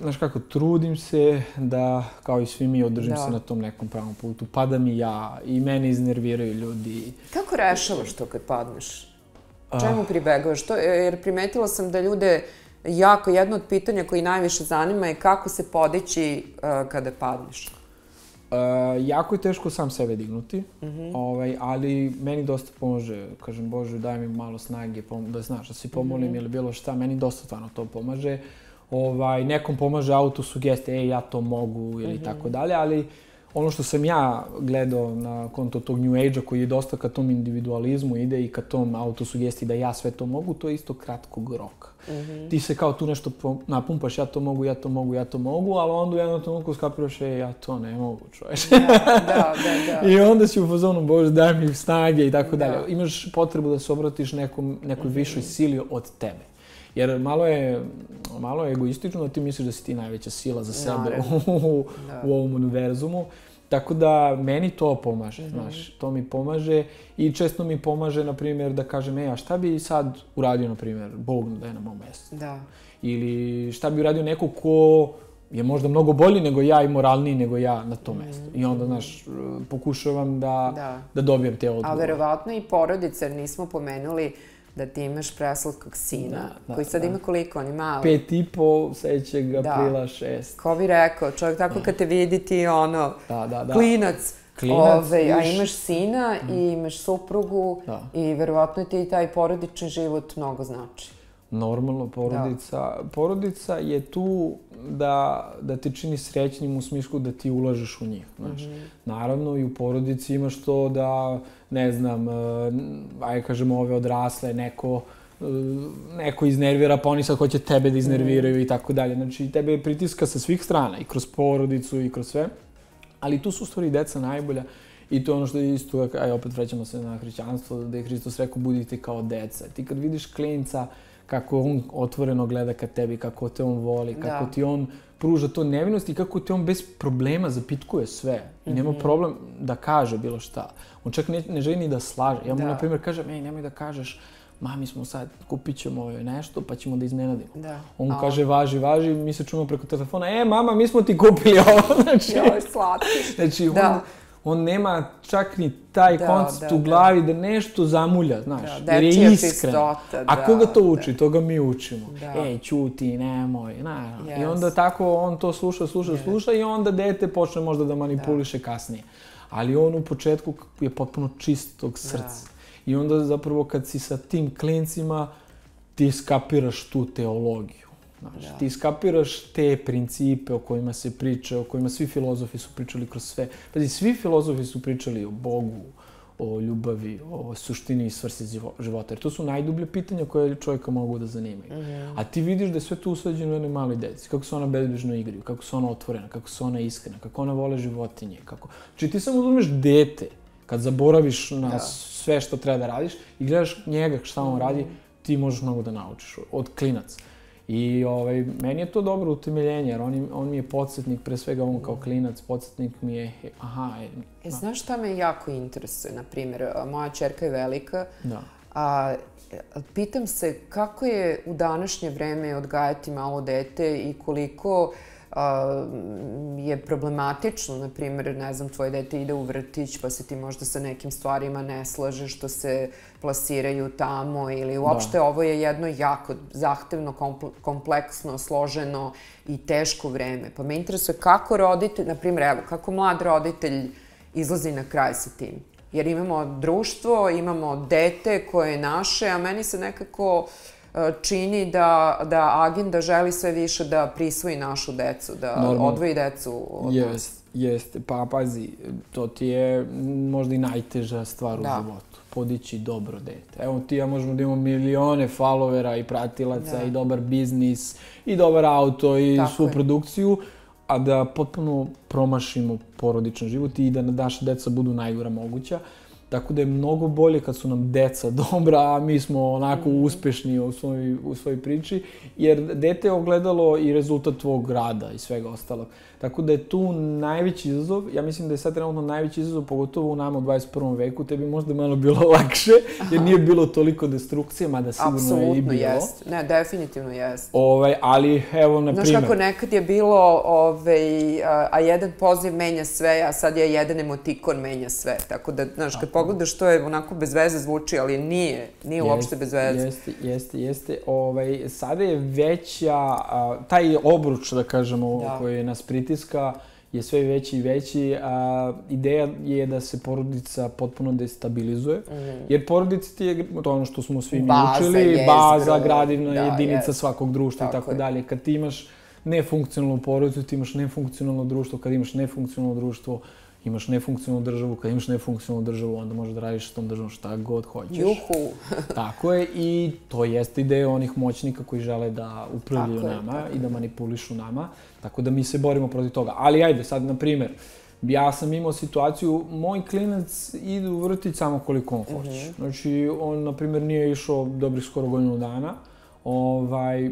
znaš kako, trudim se da, kao i svi mi, održim se na tom nekom pravom putu. Padam i ja, i mene iznerviraju ljudi. Kako rešavaš to kad padneš? Čemu pribegavaš? Jer primetila sam da ljude jedno od pitanja koji najviše zanima je kako se podići kada padneš. Jako je teško sam sebe dignuti, ali meni dosta pomože. Kažem, Bože, daj mi malo snage, da znaš, da se pomolim ili bilo šta, meni dosta stvarno to pomaže. Nekom pomaže autosugestija, ja to mogu ili tako dalje, ali ono što sam ja gledao na konto tog New Age-a koji je dosta ka tom individualizmu ide i ka tom autosugestiji da ja sve to mogu, to je isto kratkog roka. Ti se kao tu nešto napumpaš, ja to mogu, ali onda u jednom trenutku skapiraš, ja to ne mogu, čovječe. Da. I onda si u fazonu, Bože, daj mi snage i tako dalje. Imaš potrebu da se obratiš nekoj višoj sili od tebe. Jer malo je egoistično da ti misliš da si ti najveća sila za sebe u ovom univerzumu. Tako da meni to pomaže, znaš, to mi pomaže i često mi pomaže, na primjer, da kažem, a šta bi sad uradio, na primjer, Bog da je na mom mjestu? Da. Ili šta bi uradio neko ko je možda mnogo bolji nego ja i moralniji nego ja na tom mjestu. I onda, znaš, pokušavam da dobijem te odgovore. A verovatno i porodice, jer nismo pomenuli da ti imaš preslatkog sina, koji sad ima koliko, on je mali. 5,5, sledećeg aprila 6. Ko bi rekao, čovjek tako kad te vidi ti klinac, a imaš sina i imaš suprugu i verovatno ti i taj porodični život mnogo znači. Normalno, porodica je tu da te čini srećnim u smislu da ti ulažeš u njih. Naravno, i u porodici imaš to da, ne znam, ajde kažemo ove odrasle, neko iznervira, pa oni sad hoće tebe da iznerviraju i tako dalje. Znači, tebe pritiska sa svih strana, i kroz porodicu i kroz sve. Ali tu su u stvari deca najbolja, I to je ono što je isto, opet vraćamo se na hrišćanstvo, da je Hristos rekao budite kao deca. Ti kad vidiš klinca, kako on otvoreno gleda ka tebi, kako te on voli, kako ti on pruža to nevinost i kako te on bez problema zapitkuje sve. I nema problem da kaže bilo šta. On čak ne želi ni da slaže. Ja mu, na primjer, kažem, nemoj da kažeš, mami smo sad, kupit ćemo nešto, pa ćemo da iznenadimo. On kaže, važi, mi se čujemo preko telefona, mama, mi smo ti kupili ovo. Joj, slatki. Znači, on nema čak ni taj koncept u glavi da nešto zamulja, znaš, jer je iskren. A koga to uči? To ga mi učimo. Ćuti, nemoj, I onda tako on to sluša i onda dete počne možda da manipuliše kasnije. Ali on u početku je potpuno čistog srca. I onda zapravo kad si sa tim klincima, ti skapiraš tu teologiju. Ti skapiraš te principe o kojima se priča, o kojima svi filozofi su pričali kroz sve. Pazi, svi filozofi su pričali o Bogu, o ljubavi, o suštini i svrsi života. Jer to su najdublje pitanja koje čovjeka mogu da zanimaju. A ti vidiš da je sve tu usađeno u jednoj maloj deci. Kako se ona bezbrižno igraju, kako se ona otvorena, kako se ona iskrena, kako ona vole životinje. Znači ti samo uzmeš dete, kad zaboraviš na sve što treba da radiš i gledaš njega šta on radi, ti možeš mnogo da naučiš od klinaca. I meni je to dobro utemeljenje, jer on mi je podsjetnik, pre svega on kao klinac, podsjetnik mi je, Znaš šta me jako interesuje, na primjer, moja ćerka je velika, a pitam se kako je u današnje vreme odgajati malo dete i koliko je problematično, na primjer, ne znam, tvoje dete ide u vrtić pa se ti možda sa nekim stvarima ne slažeš što se plasiraju tamo ili uopšte ovo je jedno jako zahtevno, kompleksno, složeno i teško vreme. Pa me interesuje kako roditelj, na primjer, evo, kako mlad roditelj izlazi na kraj sa tim. Jer imamo društvo, imamo dete koje je naše, a meni se nekako čini da agenda želi sve više da prisvoji našu decu, da odvoji decu od nas. Jeste, pa pazi, to ti je možda i najteža stvar u životu. Podići dobro dete. Evo ti ja možemo da imamo milione followera i pratilaca i dobar biznis i dobar auto i svu produkciju, a da potpuno promašimo porodičan život i da naša deca budu najgora moguća. Tako da je mnogo bolje kad su nam deca dobra, a mi smo onako uspešni u svojoj priči, jer dete je ogledalo i rezultat tvog rada i svega ostalog. Tako da je tu najveći izazov, ja mislim da je sad trenutno najveći izazov, pogotovo u nama u 21. veku, tebi možda malo bilo lakše, jer nije bilo toliko destrukcije, mada sigurno je i bilo. Apsolutno jest, ne, definitivno jest. Ali, evo, na primjer... Znaš kako nekad je bilo, a jedan poziv menja sve, a sad je jedan emotikon menja sve, tako da, znaš, kad pogledaš, to je onako bez veze zvuči, ali nije uopšte bez veze. Jeste. Sada je veća, taj obruč, da kažemo, koji nas pritiska, je sve veći i veći. Ideja je da se porodica potpuno destabilizuje, jer porodica ti je to ono što smo svi mi učili, baza, gradivna jedinica svakog društva i tako dalje. Kad ti imaš nefunkcionalnu porodicu, ti imaš nefunkcionalno društvo, kad imaš nefunkcionalno društvo, imaš nefunkcionalnu državu, kad imaš nefunkcionalnu državu, onda možeš da radiš s tom državom šta god hoćeš. Juhu! Tako je, i to jeste ideja onih moćnika koji žele da upravljaju nama i da manipulišu nama, tako da mi se borimo protiv toga. Ali ajde, sad, na primjer, ja sam imao situaciju, moj klinac ide u vrtić samo koliko on hoće. Znači, on, na primjer, nije išao dobrih skoro godinu dana,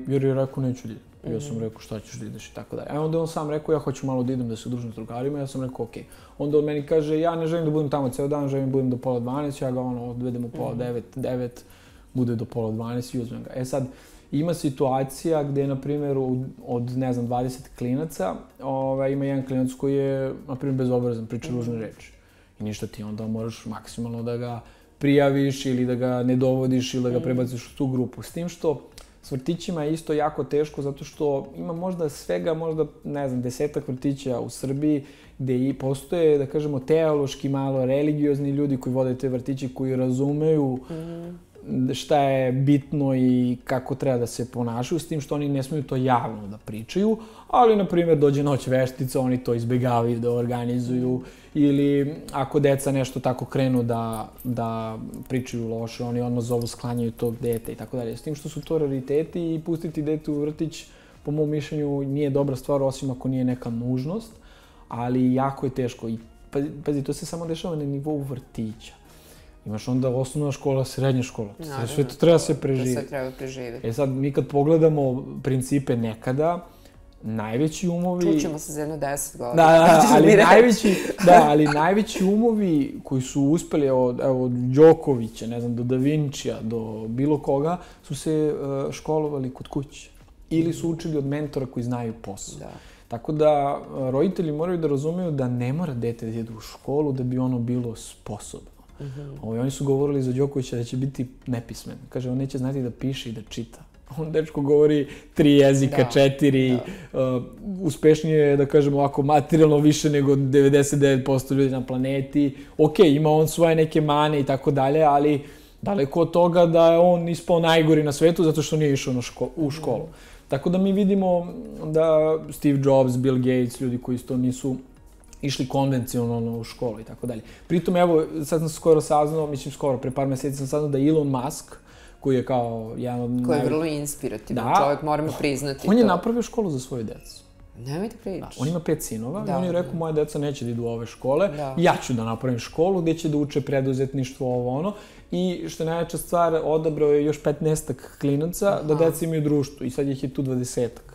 jer je rekao neću da idem. Ja sam rekao šta ćeš da ideš i tako dalje. Onda on sam rekao ja hoću malo da idem da se udružim s drugarima, ja sam rekao okej. Onda on meni kaže ja ne želim da budem tamo ceo dan, želim da budem do 8:30, ja ga odvedem u 8:30, bude do 8:30 i uzmem ga. Sad, ima situacija gde, na primjer, od, ne znam, 20 klinaca, ima jedan klinac koji je, na primjer, bezobrazan, priča ružne reči. I ništa, ti onda moraš maksimalno da ga prijaviš ili da ga ne dovodiš ili da ga prebaciš u tu grupu. S tim što s vrtićima je isto jako teško zato što ima možda svega, ne znam, 10-ak vrtića u Srbiji gde i postoje, da kažemo, teološki malo religiozni ljudi koji vode te vrtiće, koji razumeju šta je bitno i kako treba da se ponašaju, s tim što oni ne smiju to javno da pričaju, ali, na primjer, dođe noć veštica, oni to izbegavaju da organizuju, ili ako deca nešto tako krenu da pričaju loše, oni odmah zovu, sklanjaju tog dete i tako dalje. S tim što su to rariteti i pustiti dete u vrtić, po mom mišljenju, nije dobra stvar, osim ako nije neka nužnost, ali jako je teško. I pazi, to se samo dešava na nivou vrtića. Imaš onda osnovna škola, srednja škola. Sve to treba se preživjeti. Sve treba preživjeti. Sad, mi kad pogledamo principe nekada, najveći umovi... Čućemo se za jedno 10 godina. Ali najveći umovi koji su uspeli od Đokovića, ne znam, do Da Vincija, do bilo koga, su se školovali kod kuće. Ili su učili od mentora koji znaju posao. Tako da, roditelji moraju da razumeju da ne mora dete da ide u školu da bi ono bilo sposobno. Oni su govorili za Đokovića da će biti nepismen. Kaže, on neće znati da piše i da čita. On dečko govori 3 jezika, 4, uspešnije je, da kažemo ovako, materijalno više nego 99% ljudi na planeti. Ok, ima on svoje neke mane i tako dalje, ali daleko od toga da je on ispao najgori na svetu zato što nije išao u školu. Tako da mi vidimo da Steve Jobs, Bill Gates, ljudi koji isto nisu išli konvencionalno u školu i tako dalje. Pritom, evo, sad sam skoro saznao, pre par meseci sam saznao da Elon Musk, koji je kao jedan od... Koji je vrlo inspirativan čovjek, moramo priznati to. On je napravio školu za svoju decu. Nemojte pričati. On ima 5 sinova i on je rekao, moje deca neće da idu u ove škole, ja ću da napravim školu gdje će da uče preduzetništvo, ovo ono. I što je najveća stvar, odabrao je još 15-ak klinaca da deca imaju društvo i sad ih je tu 20-ak.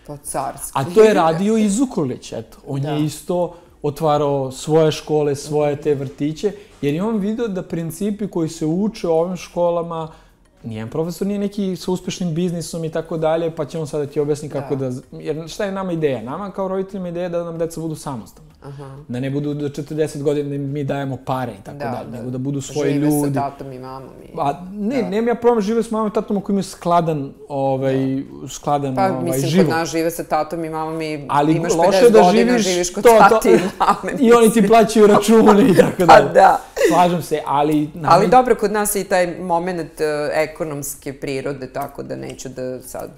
To carski. A to je radio i Zukorlić, eto. On je isto otvarao svoje škole, svoje te vrtiće, jer je on vidio da principi koji se uče u ovim školama, nijedan profesor nije neki sa uspešnim biznisom i tako dalje, pa će on sad da ti objasni kako da... Jer šta je nama ideja? Nama kao roditeljima ideja da nam deca budu samostalna. Da ne budu do 40 godina da mi dajemo pare i tako dalje, nego da budu svoji ljudi. Žive sa tatom i mamom. Nemam ja problem žive s mamom i tatom ako imaju skladan život. Pa mislim, kod nas žive sa tatom i mamom i imaš 50 godina, živiš kod tati i mame. I oni ti plaćaju račune i tako dalje. Slažem se, ali... Ali dobro, kod nas je i taj moment ekonomske prirode, tako da neću da sad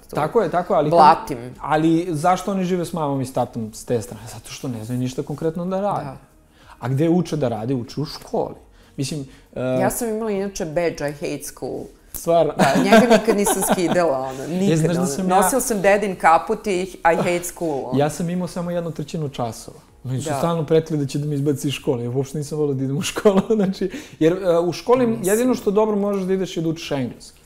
blatim. Ali zašto oni žive s mamom i s tatom s te strane? Zato što ne znaju ništa konkretno da rade. A gde uče da rade? Uče u školi. Mislim... Ja sam imala inače badge I hate school. Stvarno? Da, njega nikad nisam skidala, nikad. Nosila sam dedin kaput i I hate school. Ja sam imao samo 1/3 časova. Oni su stalno pretili da će da me izbaci iz škole. Ja uopšte nisam volio da idem u školu. Jer u školi jedino što dobro možeš da ideš je da učiš engleski.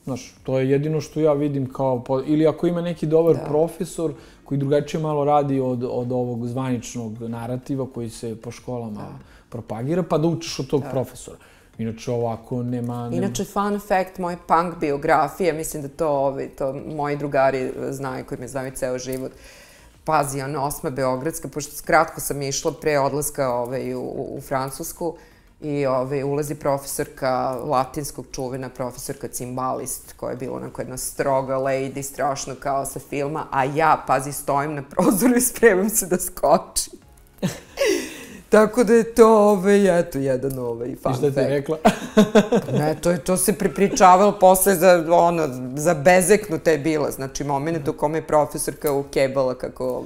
Znaš, to je jedino što ja vidim kao... Ili ako ima neki dobar profesor koji drugačije malo radi od ovog zvaničnog narativa koji se po školama propagira, pa da učiš od tog profesora. Inače, ovako nema... Inače, fun fact, moje punk biografije, mislim da to moji drugari znaju, koji me znaju ceo život. Pazi, ono, 8. Beogradska, pošto kratko sam išla pre odlaska u Francusku i ulazi profesorka latinskog čuvena, profesorka cimbalist, koja je bila onako jedna stroga lady, strašno kao sa filma, a ja, pazi, stojim na prozoru i spremam se da skočim. Tako da je to, eto, jedan fun fact. I šta ti je rekla? Ne, to se prepričavalo posle za bezeknuta je bila. Znači, moment u kome je profesorka ukebala kako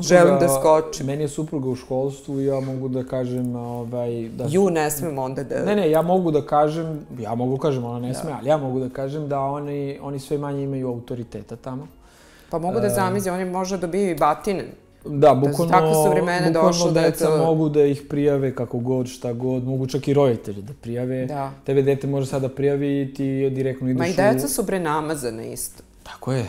želim da skočim. Meni je supruga u školstvu i ja mogu da kažem... Ne smem onda da... Ne, ja mogu kažem, ona ne sme, ali ja mogu da kažem da oni sve manje imaju autoriteta tamo. Pa mogu da zamislim, oni možda dobiju i batine. Da, bukvalno deca mogu da ih prijave kako god, šta god, mogu čak i roditelji da prijave. Tebe dete može sada prijavi i ti direktno ideš u... Ma i deca su namazane isto. Tako je,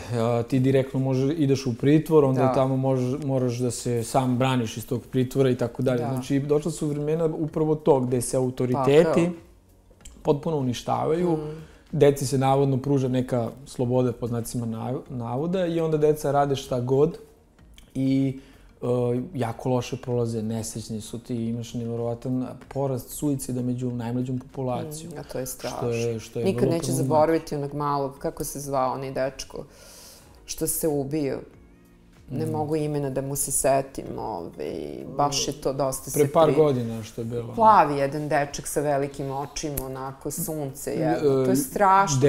ti direktno ideš u pritvor, onda tamo moraš da se sam braniš iz tog pritvora i tako dalje. Znači, došla su vremena upravo to gde se autoriteti potpuno uništavaju, deci se navodno pruža neka sloboda po znacima navoda i onda deca rade šta god i jako loše prolaze, nesrećni su ti, imaš nevjerovatan porast suicida među najmlađom populacijom. A to je strašno. Nikad neće zaboraviti onog malog, kako se zvao onaj dečko, što se ubio. Ne mogu imena da mu se setim, baš je to dosta se... Pre par godina što je bilo. Plavi jedan dečak sa velikim očima, onako, sunce, to je strašno.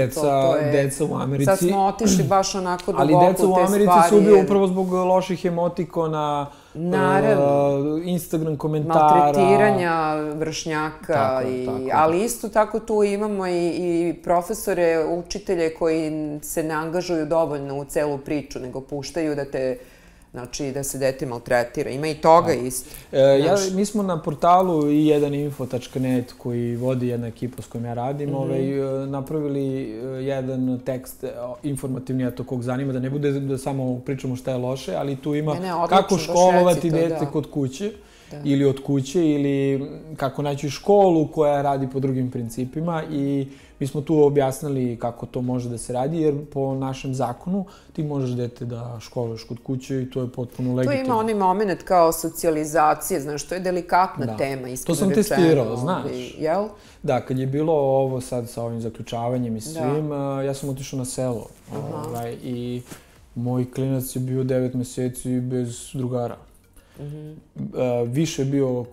Deca u Americi... Sad smo otišli baš onako duboko u te ali stvari. deca u Americi su ubio upravo zbog loših emotikona, Instagram komentara... Maltretiranja vršnjaka, ali isto tako tu imamo i profesore, učitelje koji se ne angažuju dovoljno u celu priču, nego puštaju da te Znači, da se dete maltretira. Ima i toga isto. Mi smo na portalu i1info.net koji vodi jedna ekipa s kojom ja radim, napravili jedan tekst informativni, a to kog zanima, da ne bude da samo pričamo šta je loše, ali tu ima kako školovati dete kod kuće ili od kuće, ili kako naći školu koja radi po drugim principima, i mi smo tu objasnili kako to može da se radi, jer po našem zakonu ti možeš dete da školuješ kod kuće i to je potpuno legitimno. Tu ima onaj moment kao socijalizacije, znaš, to je delikatna tema. To sam testirao, znaš. Jel? Da, kad je bilo ovo sad sa ovim zaključavanjem i svim, ja sam otišao na selo. I moj klinac je bio 9 meseci bez drugara. Više je bio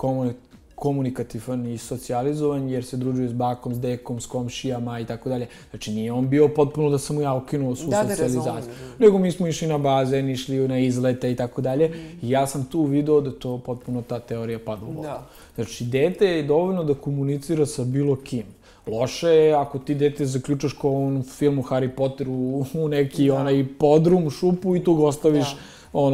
komunikativan i socijalizovan, jer se družio s bakom, s dekom, s komšijama i tako dalje. Znači, nije on bio potpuno da sam mu ja ukinuo svu socijalizaciju. Nego mi smo išli na bazen, išli na izlete i tako dalje. I ja sam tu video da to potpuno ta teorija pada u vodu. Znači, dete je dovoljno da komunicira sa bilo kim. Loše je ako ti dete zaključaš kao u onom filmu Harry Potteru u neki onaj podrum, šupu i tu ga ostaviš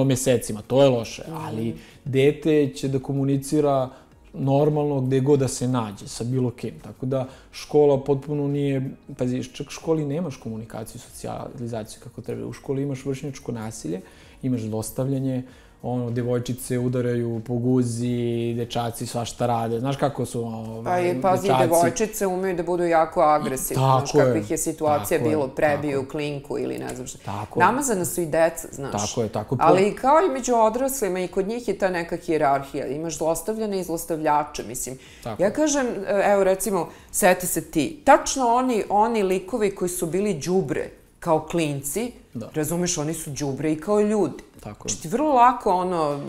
mesecima. To je loše. Ali dete će da komunicira normalno gde god da se nađe, sa bilo kim. Tako da škola potpuno nije... Pazi, čak u školi nemaš komunikaciju, socijalizaciju kako treba. U školi imaš vršnjačko nasilje, imaš zlostavljanje, devojčice udaraju po guzi, dečaci svašta rade. Znaš kako su dečaci? Pazi, devojčice umeju da budu jako agresivne. Znaš kakvih je situacija bilo, prebiju klinku ili ne znam šta. Namazana su i deca, znaš. Tako. Ali kao i među odraslima, i kod njih je ta neka hijerarhija. Imaš zlostavljane i zlostavljače, mislim. Ja kažem, evo recimo, seti se ti, tačno oni likovi koji su bili đubre kao klinci, razumeš, oni su đubre i kao ljudi. Znači ti vrlo lako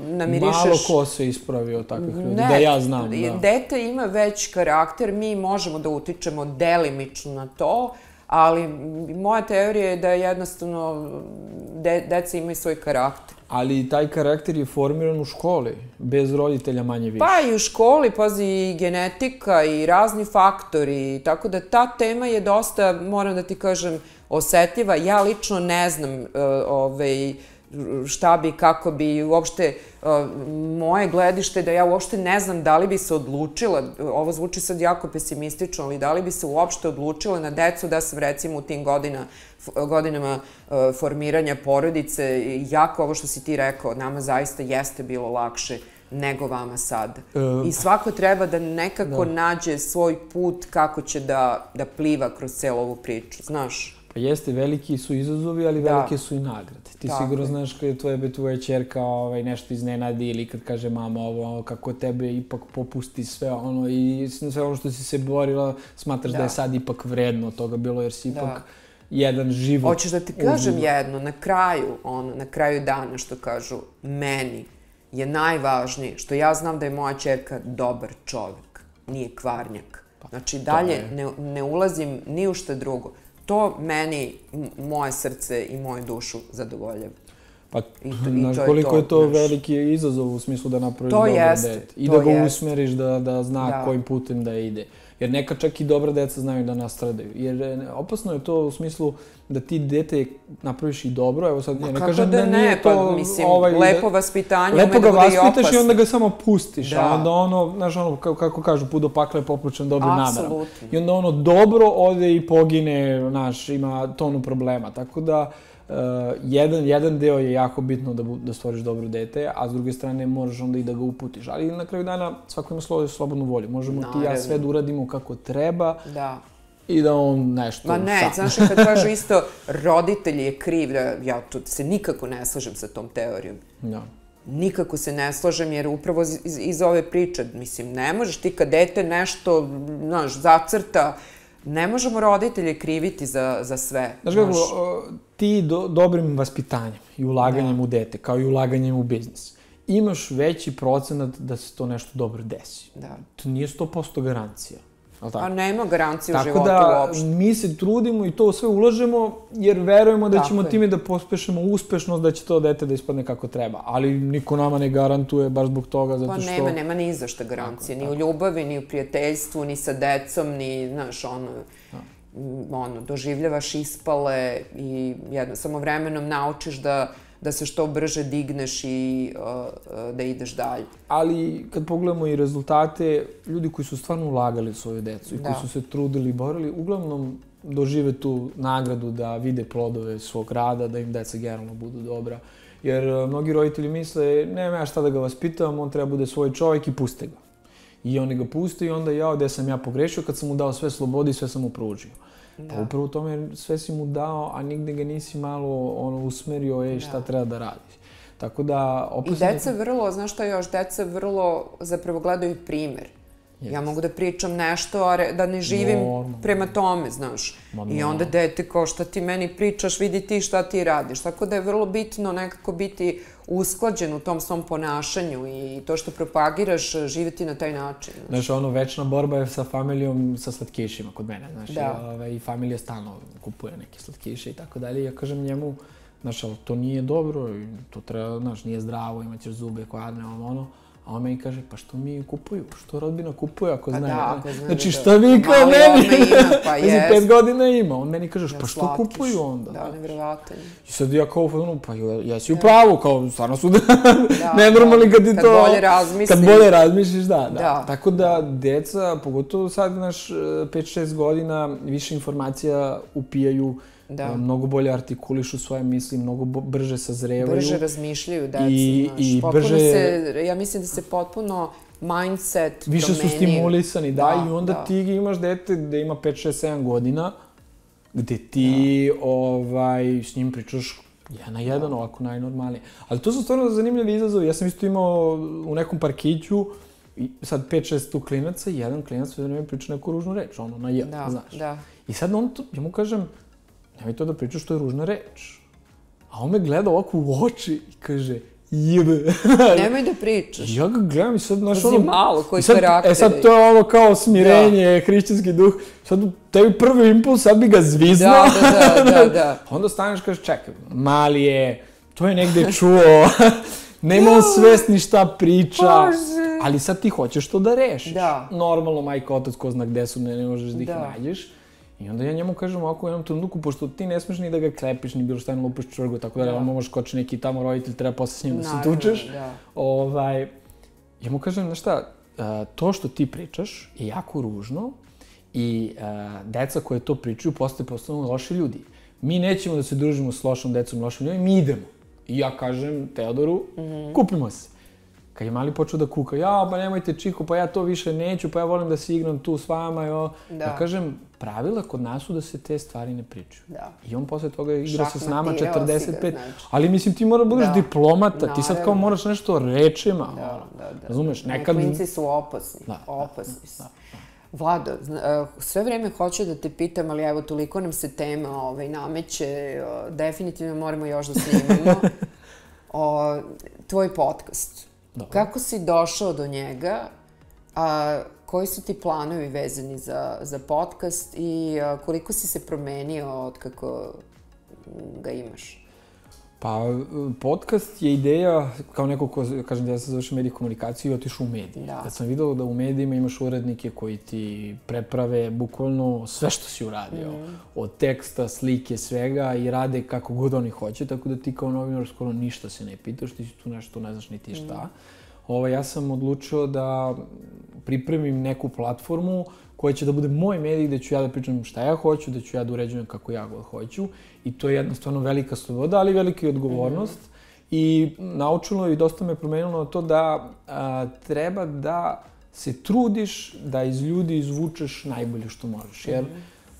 namirišeš... Malo ko se ispravi od takvih ljudi, da ja znam. Dete ima već karakter, mi možemo da utičemo delimično na to, ali moja teorija je da jednostavno deca imaju svoj karakter. Ali taj karakter je formiran u školi, bez roditelja manje više. Pa i u školi, pazi, i genetika i razni faktori, tako da ta tema je dosta, moram da ti kažem, osetljiva. Ja lično ne znam šta bi, kako bi, uopšte moje gledište da ja uopšte ne znam da li bi se odlučila, ovo zvuči sad jako pesimistično, ali da li bi se uopšte odlučila na decu da sam recimo u tim godinama formiranja porodice, jako ovo što si ti rekao, nama zaista jeste bilo lakše nego vama sad. I svako treba da nekako nađe svoj put kako će da pliva kroz celu ovu priču, znaš? Pa jeste, veliki su izazovi, ali velike su i nagrade. Ti sigurno znaš kada je tvoja ćerka nešto iznenadi ili kad kaže mama ovo, kako tebe ipak popusti sve ono i sve ono što si se borila, smatraš da je sad ipak vredno toga bilo, jer si ipak jedan život... Hoćeš da ti kažem jedno, na kraju dana što kažu, meni je najvažnije što ja znam da je moja ćerka dobar čovek, nije kvarnjak. Znači dalje ne ulazim ni u šta drugo. To meni, moje srce i moju dušu zadovoljava. Pa, znaš koliko je to veliki izazov u smislu da napraviš dobro dete. I da ga usmeriš da zna kojim putem da ide. Jer neka čak i dobra deca znaju da nastradaju. Jer opasno je to u smislu da ti dete napraviš i dobro. Evo sad, ja ne kažem da nije to... Mislim, lepo vaspitanje ume da bude i opasno. Lepo ga vaspitaš i onda ga samo pustiš. A onda znaš kako kažu, put do pakla je popločen dobrim namerom. I onda dobro ode i pogine, znaš, ima tonu problema. Tako da, jedan deo je jako bitno da stvoriš dobro dete, a s druge strane moraš onda i da ga uputiš. Ali na kraju dana svako ima slobodnu volju. Možemo ti i ja sve da uradimo kako treba i da on nešto... Ma ne, znaš kad kažu isto roditelj je kriv, ja tu se nikako ne slažem sa tom teorijom. Nikako se ne slažem jer upravo iz ove priče, mislim, ne možeš ti kad dete nešto, znaš, zacrta, ne možemo roditelje kriviti za sve. Znaš kako, ti dobrim vaspitanjem i ulaganjem u dete, kao i ulaganjem u biznis, imaš veći procenat da se to nešto dobro desi. To nije 100% garancija. A nema garancije u životu uopšte. Tako da mi se trudimo i to sve ulažemo jer verujemo da ćemo time da pospešemo uspešnost, da će to dete da ispadne kako treba. Ali niko nama ne garantuje baš zbog toga, zato što... Pa nema ni za šta garancije. Ni u ljubavi, ni u prijateljstvu, ni sa decom, ni, znaš, doživljavaš ispale i samo vremenom naučiš da se što brže digneš i da ideš dalje. Ali kad pogledamo i rezultate, ljudi koji su stvarno ulagali u svoju decu i koji su se trudili i borili, uglavnom dožive tu nagradu da vide plodove svog rada, da im deca generalno budu dobra. Jer mnogi roditelji misle, nema ja šta da ga vaspitam, on treba bude svoj čovjek i puste ga. I oni ga puste i onda gde sam ja pogrešio kad sam mu dao sve slobode i sve sam mu pružio. Pa upravo u tome sve si mu dao, a nigde ga nisi malo usmerio, šta treba da radiš. Tako da... I deca vrlo, znaš šta još, deca vrlo zapravo gledaju primjer. Ja mogu da pričam nešto, a da ne živim prema tome, znaš. I onda dete kao šta ti meni pričaš, vidi ti šta ti radiš. Tako da je vrlo bitno nekako biti usklađen u tom svom ponašanju i to što propagiraš, živjeti na taj način. Znaš, večna borba je sa familijom, sa slatkišima kod mene, znaš. I familija stalno kupuje neke slatkiše i tako dalje. Ja kažem njemu, znaš, ali to nije dobro, to treba, znaš, nije zdravo, imaćeš zube, kvarne, ono. A on meni kaže, pa što mi kupuju? Što rodbina kupuje ako znaju? Znači, šta vi kao meni? Mislim, 5 godina ima. On meni kaže, pa što kupuju onda? Da, nevjerovatno. I sad ja kao, pa jesi u pravu, kao, stvarno su nenormalni kad ti to... Kad bolje razmisliš. Kad bolje razmisliš, da. Tako da, deca, pogotovo sad, naš 5-6 godina, više informacija upijaju, mnogo bolje artikulišu svoje misli, mnogo brže sazrevaju. Brže razmišljaju deca, znaš. Ja mislim da se potpuno mindset promenio. Više su stimulisani, da, i onda ti imaš dete da ima 5, 6, 7 godina, gde ti s njim pričaš 1-1, ovako najnormalnije. Ali to su stvarno zanimljivi izazovi. Ja sam isto imao u nekom parkiću, sad 5-6 tu klinaca i jedan klinac sve vreme priča neku ružnu reč, na j, znaš. I sad ja mu kažem, nemoj to da pričaš, to je ružna reč. A on me gleda ovako u oči i kaže, jebe. Nemoj da pričaš. Ja ga gledam i sad, znaš, Pazi malo, koji karakter. Sad to je ovo kao smirenje, hrišćanski duh. Sad tebi prvi impuls, sad bi ga zviznao. Da. Onda staneš i kažeš, čekaj, mali je, to je negde čuo, nema on svesni šta priča. Ali sad ti hoćeš to da rešiš. Normalno, majka, otac, ko zna gde su, ne možeš da ih nađeš. I onda ja njemu kažem ovako u jednom trenutku, pošto ti ne smeš ni da ga klepiš, ni bilo šta, ne lupiš čvrgu, tako da on možeš koči neki tamo roditelj, treba posle s njim da se tučeš. Ja mu kažem, znaš šta, to što ti pričaš je jako ružno i deca koje to pričaju postanu loši ljudi. Mi nećemo da se družimo s lošom decom, lošim ljudima, mi idemo. I ja kažem Teodoru, kupimo se. Kad je mali počeo da kuka, pa nemojte Čiko, pa ja to više neću, pa ja volim da se igram tu s vama. Ja kažem, pravila kod nas su da se te stvari ne pričaju. I on posle toga igra se s nama 45. Ali mislim, ti mora budeš diplomata, ti sad kao moraš nešto rečima. Razumeš, nekad... Klinci su opasni, opasni su. Vlado, sve vreme hoću da te pitam, ali evo, toliko nam se tema nameće, definitivno moramo još da snimamo. Tvoj podcast. Kako si došao do njega, koji su ti planovi vezani za podcast i koliko si se promenio od kako ga imaš? Pa, podcast je ideja, kao neko ko, kažem, ja sam završio medij komunikaciju i otišao u mediji. Kad sam vidio da u medijima imaš urednike koji ti preprave bukvalno sve što si uradio. Od teksta, slike, svega i rade kako god oni hoće, tako da ti kao novinar skoro ništa se ne pitaš, ti si tu nešto, ne znaš ni ti šta. Ja sam odlučio da pripremim neku platformu koja će da bude moj medij, gde ću ja da pričam šta ja hoću, da ću ja da uređujem kako ja god hoću. I to je jednostavno velika sloboda, ali velika i odgovornost. I naučilo i dosta me promenilo to da treba da se trudiš da iz ljudi izvučeš najbolje što možeš. Jer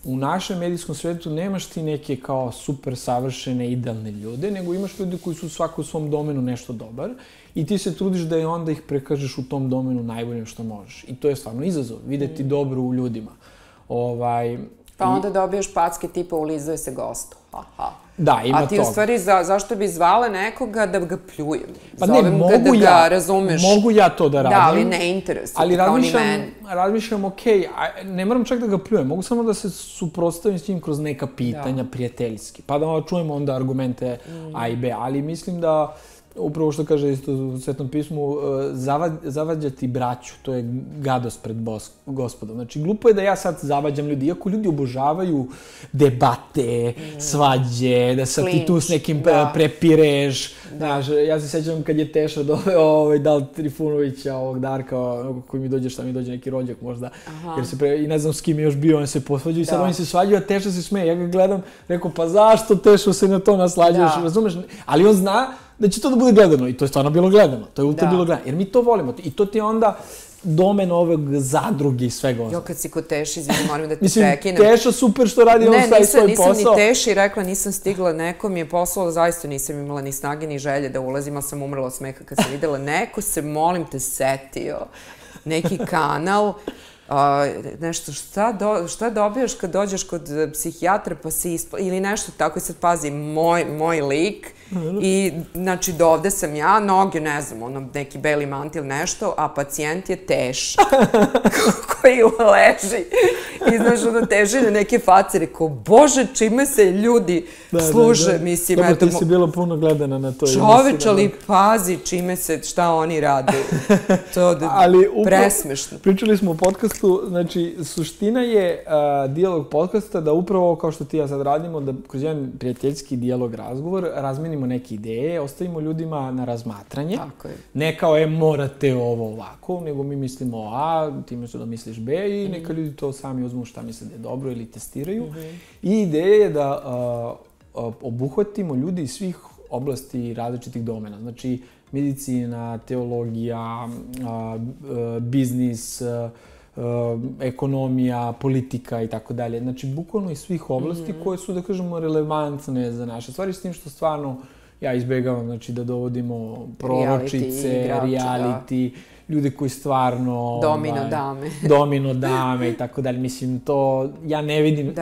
u našem medijskom svetu nemaš ti neke kao super savršene, idealne ljude, nego imaš ljudi koji su svako u svom domenu nešto dobar i ti se trudiš da i onda ih prekažeš u tom domenu najbolje što možeš. I to je stvarno izazov, videti dobro u ljudima. Pa onda dobijaš packe tipa ulizuje se gostu. Da, ima to. A ti u stvari zašto bi zvala nekoga da ga pljujem? Pa ne, mogu ja. Da ga razumeš. Mogu ja to da radim. Da, ali ne interesuje, kao ni meni. Ali razmišljam, ne moram čak da ga pljujem, mogu samo da se suprotstavim s njim kroz neka pitanja prijateljski. Pa da čujemo onda argumente A i B, ali mislim da upravo što kaže isto u Svetom pismu, zavađati braću, to je gadost pred Gospodom. Znači, glupo je da ja sad zavađam ljudi, iako ljudi obožavaju debate, svađe, da sad ti tu s nekim prepireš. Znaš, ja se sjećam kad je Teša doveo Dal Trifunovića, ovog Darka, koji mi dođe, šta mi dođe, neki rođak možda, i ne znam s kim je još bio, on se posvađao i sad oni se svađaju, a Teša se smeje. Ja ga gledam, rekao, pa zašto Tešo se na to naslađaš, razumeš? Ali on zna da će to da bude gledano i to je stvarno bilo gledano, to je ultra bilo gledano, jer mi to volimo i to ti je onda domen ovog zadruge i svega ono. Jo, kad si kod Teši, izvini, moram da ti prekinem. Mislim, Teša super što radi on svoj posao. Ne, nisam ni Teši rekla, nisam stigla, neko mi je poslao, zaista nisam imala ni snage ni želje da ulazim, ali sam umrla od smeha kad sam videla. Neko se, molim te, setio, neki kanal, nešto, šta dobijaš kad dođeš kod psihijatra pa si ili nešto tako i sad pazi, moj lik i znači dovde sam ja, noge, ne znam, ono, neki beli mantil, nešto, a pacijent je Teša koji leži i znaš, ono, teži na neke face, rekao, bože, čime se ljudi služe, mislim, eto. Dobro, ti si bila puno gledana na to. Čoveč, ali pazi čime se, šta oni rade. To presmešno. Pričali smo o podcastu, znači, suština je dijalog podcasta da upravo, kao što ti ja sad radimo, da kroz jedan prijateljski dijalog, razgovor, razmenimo neke ideje, ostavimo ljudima na razmatranje. Tako je. Ne kao, morate ovo ovako, nego mi mislimo A, ti misliš da misliš B i neka ljudi to sami uzmu šta misle da je dobro ili testiraju. I ideja je da obuhvatimo ljudi iz svih oblasti različitih domena. Znači, medicina, teologija, biznis, ekonomija, politika i tako dalje. Znači, bukvalno iz svih oblasti koje su, da kažemo, relevantne za naše stvari, s tim što stvarno ja izbegavam, znači, da dovodimo proročice, reality, ljude koji stvarno... Domino dame i tako dalje. Mislim, to ja ne vidim,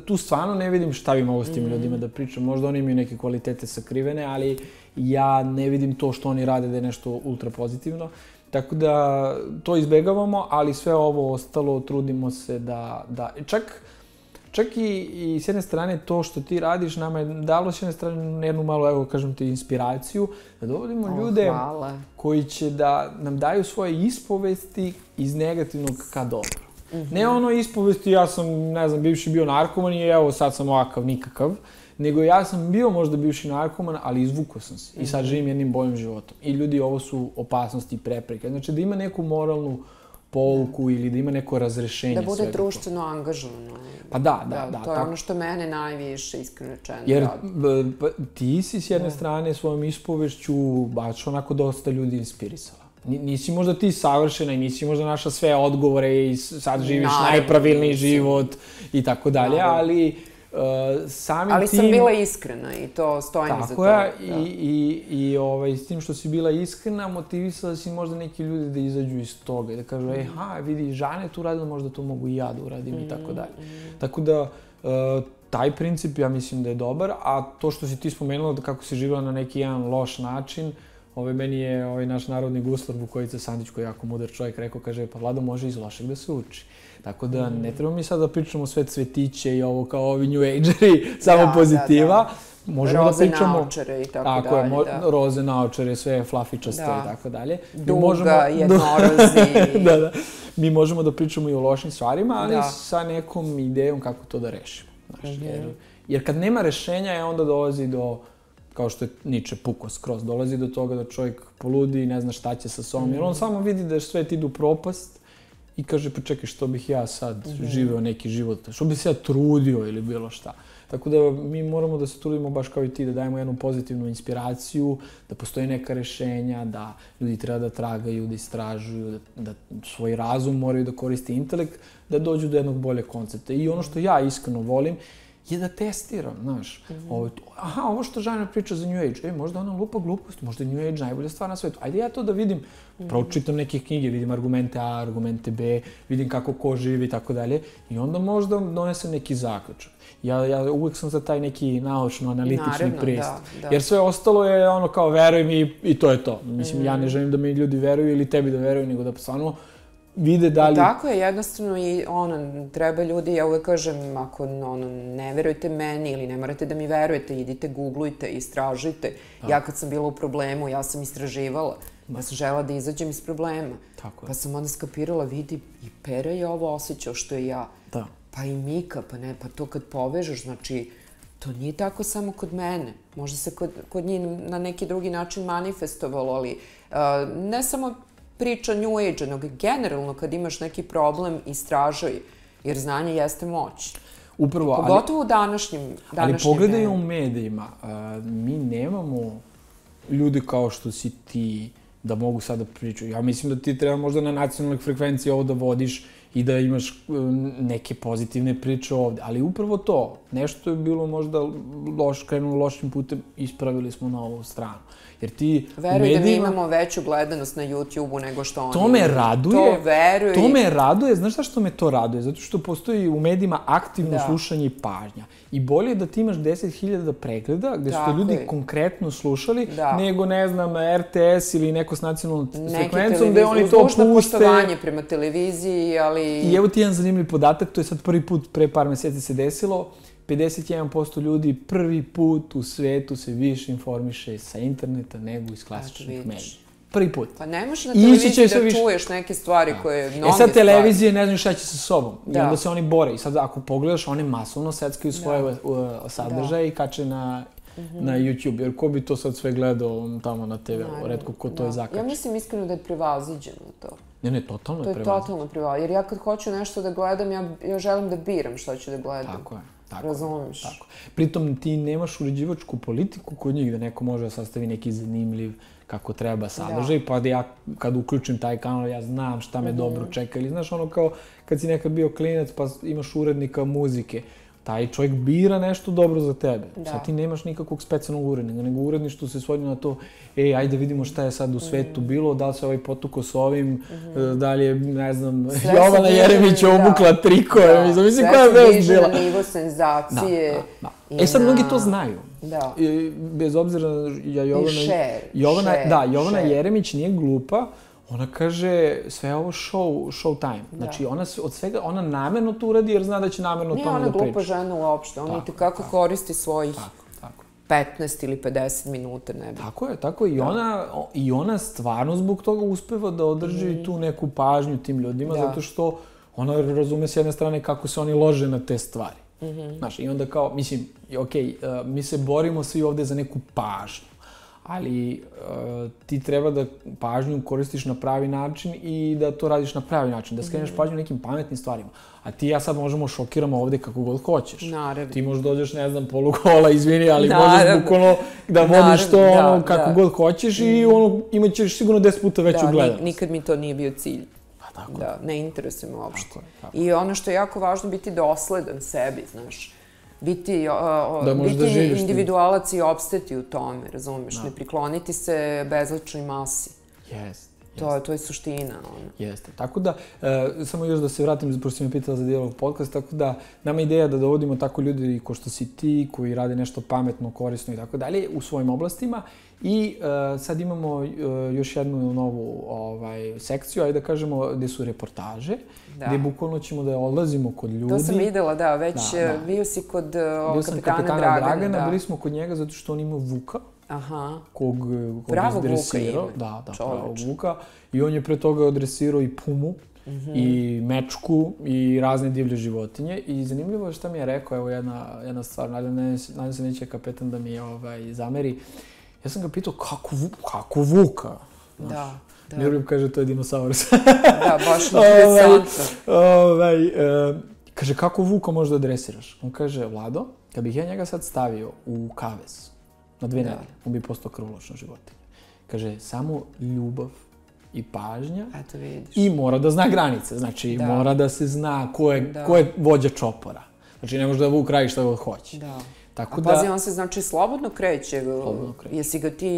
tu stvarno ne vidim šta bi mogo s tim ljudima da pričam. Možda oni imaju neke kvalitete sakrivene, ali ja ne vidim to što oni rade da je nešto ultra pozitivno. Tako da to izbegavamo, ali sve ovo ostalo trudimo se da čak i s jedne strane to što ti radiš nama je dalo s jedne strane jednu malo, evo kažem ti, inspiraciju, da dovodimo ljude koji će da nam daju svoje ispovesti iz negativnog ka dobro. Ne ono ispovesti, ja sam, ne znam, bivši bio narkoman i evo sad sam ovakav, nikakav, nego ja sam bio možda bivši narkoman, ali izvukao sam se i sad živim jednim boljim životom. I ljudi, ovo su opasnosti i prepreke. Znači da ima neku moralnu pouku ili da ima neko razrešenje svega. Da bude društveno angažovano. Pa da. To je ono što mene najviše, iskreno rečeno, jer ti si s jedne strane svojom ispovešću baš onako dosta ljudi inspirisala. Nisi možda ti savršena i nisi možda naša sve odgovore i sad živiš najpravilniji život i tako dalje, ali ali sam bila iskrena i to stojim za to. Tako je, i s tim što si bila iskrena, motivisala si možda neki ljudi da izađu iz toga i da kažu, vidi, Žana je tu radila, možda to mogu i ja da uradim i tako dalje. Tako da, taj princip ja mislim da je dobar, a to što si ti spomenula da kako si živjela na neki jedan loš način, meni je naš narodni guslar Vukojica Sandić, koji je jako mudar čovjek, rekao, kaže, pa Vlado, može iz lošeg da se uči. Tako da ne treba mi sad da pričamo sve cvetiće i ovo kao ovi New Ageri, samo pozitiva. Roze naočare i tako dalje. Tako je, roze naočare, sve flafičaste i tako dalje. Duga, jednorozi. Da. Mi možemo da pričamo i o lošim stvarima, ali sa nekom idejom kako to da rešimo. Jer kad nema rešenja, onda dolazi do, kao što je Nietzsche pukao skroz, dolazi do toga da čovjek poludi i ne zna šta će sa sobom. Jer on samo vidi da svet ide u propast i kaže, pa čekaj, što bih ja sad živeo neki život, što bih se ja trudio ili bilo šta. Tako da mi moramo da se trudimo baš kao i ti, da dajemo jednu pozitivnu inspiraciju, da postoje neka rešenja, da ljudi treba da tragaju, da istražuju, da svoj razum moraju da koriste intelekt, da dođu do jednog bolje koncepta. I ono što ja iskreno volim je da testiram, znaš. Ovo što Žana priča za New Age, možda ona lupa glupost, možda je New Age najbolja stvar na svetu. Ajde ja to da vidim, pročitam neke knjige, vidim argumente A, argumente B, vidim kako ko živi i tako dalje i onda možda donesem neki zaključak. Ja uvijek sam za taj neki naučno-analitični pristup. Jer sve ostalo je ono kao veruj mi i to je to. Mislim, ja ne želim da mi ljudi veruju ili tebi da veruju, nego da stvarno vide da li... Tako je, jednostavno i treba ljudi, ja uvek kažem, ako ne verujete meni ili ne morate da mi verujete, idite, googlujte, istražujte. Ja kad sam bila u problemu, ja sam istraživala. Ja sam žela da izađem iz problema. Pa sam onda skapirala, vidi, i Pera je ovo osjećao što je ja. Pa i Mika, pa to kad povežeš, znači, to nije tako samo kod mene. Možda se kod njih na neki drugi način manifestovalo, ali ne samo priča New Age, nego generalno kad imaš neki problem, istražuj, jer znanje jeste moć. Upravo, ali... Pogotovo u današnjim Ali pogledaj u medijima, mi nemamo ljude kao što si ti da mogu sad da pričaju. Ja mislim da ti treba možda na nacionalnoj frekvenciji ovo da vodiš i da imaš neke pozitivne priče ovde. Ali upravo to, nešto je bilo možda krenulo lošim putem, ispravili smo na ovu stranu. Jer ti veruj da mi imamo veću gledanost na YouTube-u nego što oni. To me raduje. To veruj. To me raduje. Znaš zašto me to raduje? Zato što postoji u medijima aktivno slušanje i pažnja. I bolje je da ti imaš 10.000 pregleda, gde su to ljudi konkretno slušali, nego, ne znam, RTS ili neko s nacionalnom frekvencom, gde oni to puste. Dužno poštovanje prema televiziji, ali... I evo ti jedan zanimljiv podatak, to je sad prvi put pre par meseci se desilo, 51% ljudi prvi put u svetu se više informiše sa interneta nego iz klasičnih medija. Prvi put. Pa ne možeš na televiziji da čuješ neke stvari koje mnoge stvari. Sad televizije ne znaju šta će sa sobom. I onda se oni bore. I sad ako pogledaš, one masovno seckaju svoje sadržaje i kače na YouTube. Jer ko bi to sad sve gledao tamo na TV-u? Retko ko to je zakače. Ja mislim iskreno da je prevaziđeno to. Ne, totalno je prevaziđeno. To je totalno prevaziđeno. Jer ja kad hoću nešto da gledam, ja želim da biram šta ću da gledam. Tako je. Razumiš. Pritom ti nemaš uređivačku politiku kod njih da neko može da sastavi neki zanimljiv kako treba sadržaj, pa da ja kad uključim taj kanal ja znam šta me dobro čeka. Ili znaš ono kao kad si nekad bio klinac pa imaš urednika muzike, taj čovjek bira nešto dobro za tebe. Sad ti nemaš nikakvog specijalnog urednika, nego uredništvo se svodi na to, ajde vidimo šta je sad u svetu bilo, da li se ovaj potuko s ovim, da li je, ne znam, Jovana Jeremić obukla trikove, mislim koja je vest bila. Sve se diže na nivo senzacije. Sad mnogi to znaju. Da. Bez obzira, Jovana Jeremić nije glupa, ona kaže, sve je ovo show time. Znači, od svega, ona namerno to uradi jer zna da će namerno tome da priča. Nije ona glupa žena uopšte, ona i tekako koristi svojih 15 ili 50 minuta, ne bi. Tako je. I ona stvarno zbog toga uspeva da održi tu neku pažnju tim ljudima, zato što ona razume s jedne strane kako se oni lože na te stvari. Znaš, i onda kao, mislim, mi se borimo svi ovde za neku pažnju. Ali ti treba da pažnju koristiš na pravi način i da to radiš na pravi način, da skreneš pažnju nekim pametnim stvarima. A ti i ja sad možemo šokiramo ovde kako god hoćeš. Naravno. Ti možda dođeš, ne znam, polugola, izvini, ali možeš bukvalno da vodiš to kako god hoćeš i imat ćeš sigurno 10 puta veću gledanost. Nikad mi to nije bio cilj. Tako. Da, ne interesuje me uopšte. I ono što je jako važno, biti dosledan sebi, znaš. Biti individualac i opstati u tome, razumiješ, ne prikloniti se bezličnoj masi. To je suština. Jeste. Tako da, samo još da se vratim, pošto si me pitala za Dijalog podcast, tako da nama je ideja da dovodimo tako ljudi ko što si ti, koji rade nešto pametno, korisno i tako dalje u svojim oblastima. I sad imamo još jednu novu sekciju, ajde da kažemo, gde su reportaže, gde bukvalno ćemo da odlazimo kod ljudi. To sam videla, da, već bio si kod kapetana Dragana. Bili smo kod njega zato što on ima Vuka, kog izdresirao. Da, pravog Vuka. I on je pre toga odresirao i pumu, i mečku, i razne divlje životinje. I zanimljivo je šta mi je rekao, evo jedna stvar, nadam se neće kapetan da mi zameri. Ja sam ga pitao, kako Vuka? Da. Miroljub kaže, to je dinosaurus. Da, baš interesantno. Kaže, kako Vuka možda dresiraš? On kaže, Vlado, kad bih ja njega sad stavio u kavez na 2 nedelje, on bi postao krvoločna životinja. Kaže, samo ljubav i pažnja i mora da zna granice. Znači, mora da se zna ko je vođa čopora. Znači, ne može da Vuk radi šta god hoće. A pazi, on se znači slobodno kreće. Jesi ga ti...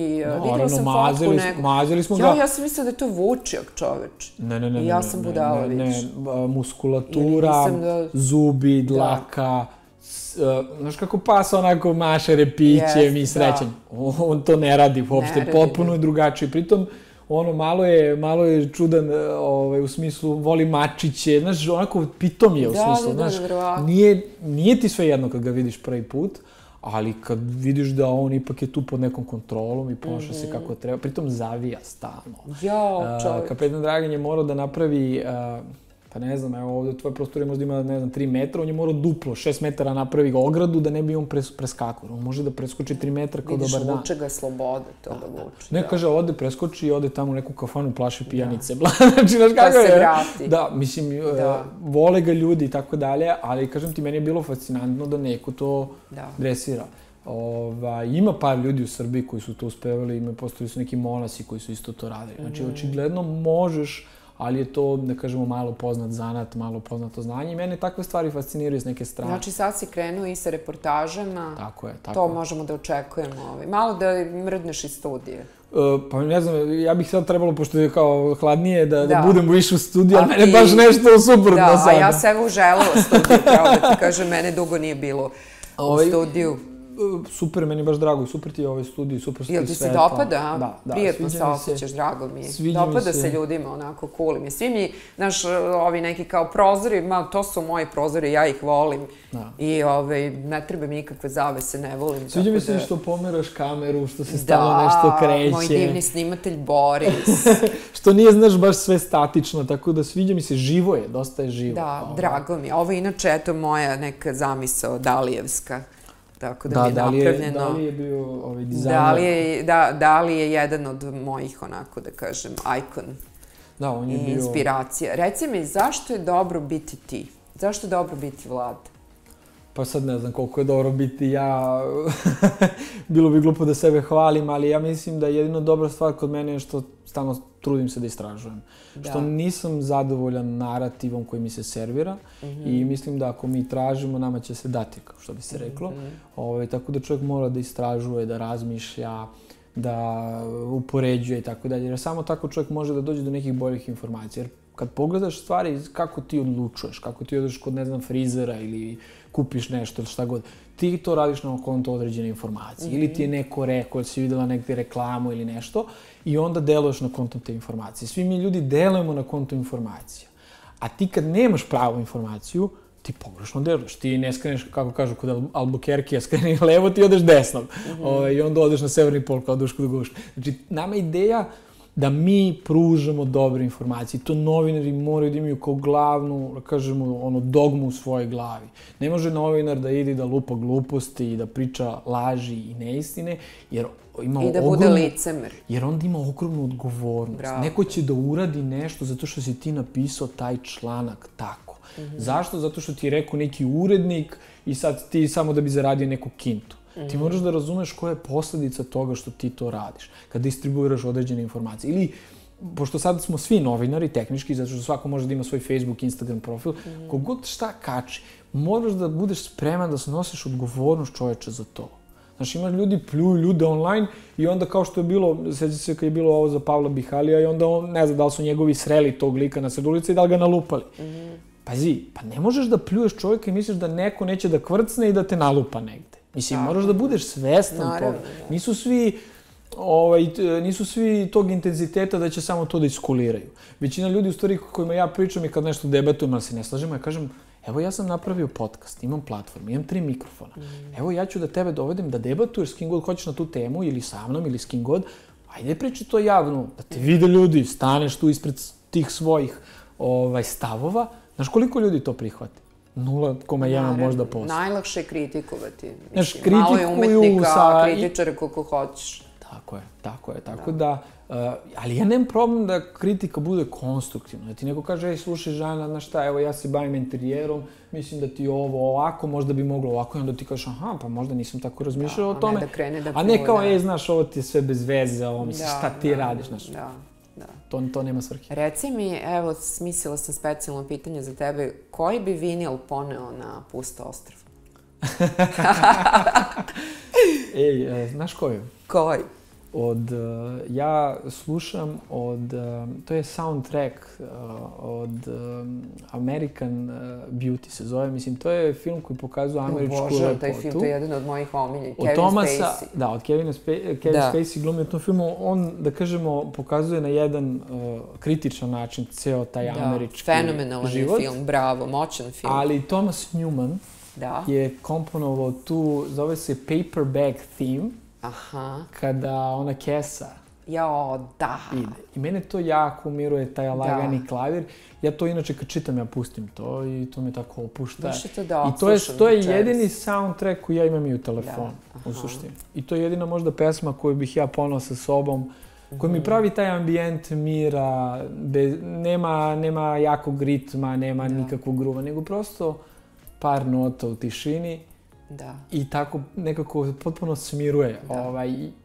Videla sam fotku neku. Mazili smo ga. Ja sam mislila da je to vučijak, čoveč. Ne. I ja sam budala, vidiš. Muskulatura, zubi, dlaka. Znaš kako pas onako maše repićem i srećem. On to ne radi uopšte. Potpuno je drugačije. Pritom, ono, malo je čudan, u smislu, voli mačiće, znaš, onako pitom je u smislu, znaš, nije ti sve jedno kad ga vidiš prvi put, ali kad vidiš da on ipak je tu pod nekom kontrolom i ponaša se kako treba, pritom zavija stalno. Jao, čovječ. Kapetan Dragan je morao da napravi, pa ne znam, evo ovde tvoje prostorije možda ima, ne znam, 3 metra, on je morao duplo, 6 metara napravi ogradu da ne bi on preskakao. On može da preskoči 3 metra kao dobar dan. Vidiš, vuče ga slobode, to da vuče. Ne, kaže, ode preskoči i ode tamo u neku kafanu, plaši pijanice. Znači, znaš kako je? Pa se vrati. Da, mislim, vole ga ljudi i tako dalje, ali, kažem ti, meni je bilo fascinantno da neko to dresira. Ima par ljudi u Srbiji koji su to uspevali, postojali su neki monasi koji su isto to radili. Znači, očigledno možeš, ali je to, da kažemo, malo poznat zanat, malo poznato znanje i mene takve stvari fasciniraju s neke strane. Znači sad si krenuo i sa reportažama. Tako je. To možemo da očekujemo. Malo da mrdneš iz studije. Pa ne znam, ja bih sad trebalo, pošto je kao hladnije, da budem više u studiju, ali mene baš nešto suprotno sada. Da, a ja sebe uželela studiju, pravo da ti kažem, mene dugo nije bilo u studiju. Super, meni je baš drago i super ti je ovaj studij, super Jel ti se dopada? Prijetno se osjećaš, drago mi je. Dopada se ljudima, onako, cool mi. Svi mi, znaš, ovi neki kao prozori, to su moji prozori, ja ih volim. I ne treba mi ikakve zavese, ne volim. Sviđa mi se što pomeraš kameru, što se stalno nešto kreće. Da, moj divni snimatelj Boris. Što nije, znaš, baš sve statično, tako da sviđa mi se, živo je, dosta je živo. Da, drago mi je. Ovo inače, eto, moja neka zamisao Dalijevska. Tako da mi je napravljeno. Dali je bio dizajner. Dali je jedan od mojih, onako da kažem, ikon i inspiracija. Reci mi, zašto je dobro biti ti? Zašto je dobro biti Vlad? Pa sad ne znam koliko je dobro biti ja. Bilo bi glupo da sebe hvalim, ali ja mislim da jedino dobra stvar kod mene je što stalno trudim se da istražujem. Što nisam zadovoljan narativom koji mi se servira i mislim da ako mi tražimo, nama će se dati, kao što bi se reklo. Tako da čovjek mora da istražuje, da razmišlja, da upoređuje i tako dalje. Jer samo tako čovjek može da dođe do nekih boljih informacija. Jer kad pogledaš stvari, kako ti odlučuješ, kako ti odeš kod, ne znam, frizera ili kupiš nešto ili šta god, ti to radiš na konto određene informacije. Ili ti je neko rekao, ili si vidjela negdje reklamu ili nešto i onda deluješ na konto te informacije. Svi mi ljudi delujemo na konto informacija. A ti kad nemaš pravu informaciju, ti pogrešno deluješ. Ti ne skreneš, kako kažu, kod Albuquerque, skreni levo, ti odeš desno. I onda odeš na severni pol kao Duško do Guška. Znači, nama je ideja da mi pružamo dobre informacije. To novinari moraju da imaju kao glavnu, da kažemo, dogmu u svojoj glavi. Ne može novinar da ide da lupa gluposti i da priča laži i neistine, jer ima i da bude licemer. Jer onda ima ogromnu odgovornost. Neko će da uradi nešto zato što si ti napisao taj članak tako. Zašto? Zato što ti je rekao neki urednik i sad ti samo da bi zaradio neku kintu. Ti moraš da razumeš koja je posljedica toga što ti to radiš, kad distribuiraš određene informacije. Ili, pošto sad smo svi novinari, tehnički, zato što svako može da ima svoj Facebook, Instagram profil, kogod šta kači, moraš da budeš spreman da snosiš odgovornost čoveče za to. Znaš, imaš ljudi, pljuju ljude online i onda kao što je bilo, sjeća se kad je bilo ovo za Pavla Bihalija i onda on, ne znam, da li su njegovi sreli tog lika na sred ulice i da li ga nalupali. Pazi, pa ne možeš da pljuješ čovjeka i misliš da neko neće da kvrcne i da te nalupa negde. Mislim, moraš da budeš svestan toga. Nisu svi tog intenziteta da će samo to da iskuliraju. Većina ljudi u stvari kojima ja pričam i kad nešto debatujem, ali se ne slažemo, ja kažem, evo ja sam napravio podcast, imam platformu, imam 3 mikrofona. Evo ja ću da tebe dovedem da debatuješ s kim god hoćeš na tu temu ili sa mnom ili s kim god. Ajde priči to javno, da te vide ljudi, staneš tu ispred tih svojih stavova. Znaš koliko ljudi to prihvate? 0,1 možda posto. Najlakše je kritikovati. Znaš, malo je umetnika, kritičara koliko hoćeš. Tako je. Tako da, ali ja nemam problem da kritika bude konstruktivna. Da ti neko kaže, ej, slušaj Žana, znaš šta, evo ja se bavim interijerom, mislim da ti ovo ovako, možda bi moglo ovako, i onda ti kažeš, aha, pa možda nisam tako razmišljao o tome. A ne kao, ej, znaš, ovo ti je sve bez veze, ovo misliš, šta ti radiš, znaš. To nema svrhe. Reci mi, evo, smislila sam specijalno pitanje za tebe, koji bi vinil poneo na pusto ostrvo? Ej, znaš koji? Koji? Ja slušam to je soundtrack od American Beauty se zove, mislim, to je film koji pokazuje američku lepotu. Bože, taj film, to je jedan od mojih omiljenih, Kevin Spacey. Da, od Kevin Spacey glumi u tom filmu, on, da kažemo, pokazuje na jedan kritičan način ceo taj američki život. Fenomenalan je film, bravo, moćan film. Ali Thomas Newman je komponovao tu, zove se Paperback Theme, kada ona kesa ide. I mene to jako umiruje, taj lagani klavir. Ja to inače kad čitam, ja pustim to i to me tako opušta. I to je jedini soundtrack koji ja imam i u telefonu, u suštini. I to je jedina možda pesma koju bih ja ponao sa sobom, koji mi pravi taj ambijent mira, nema jakog ritma, nema nikakvog gruva, nego prosto par nota u tišini. I tako nekako potpuno smiruje.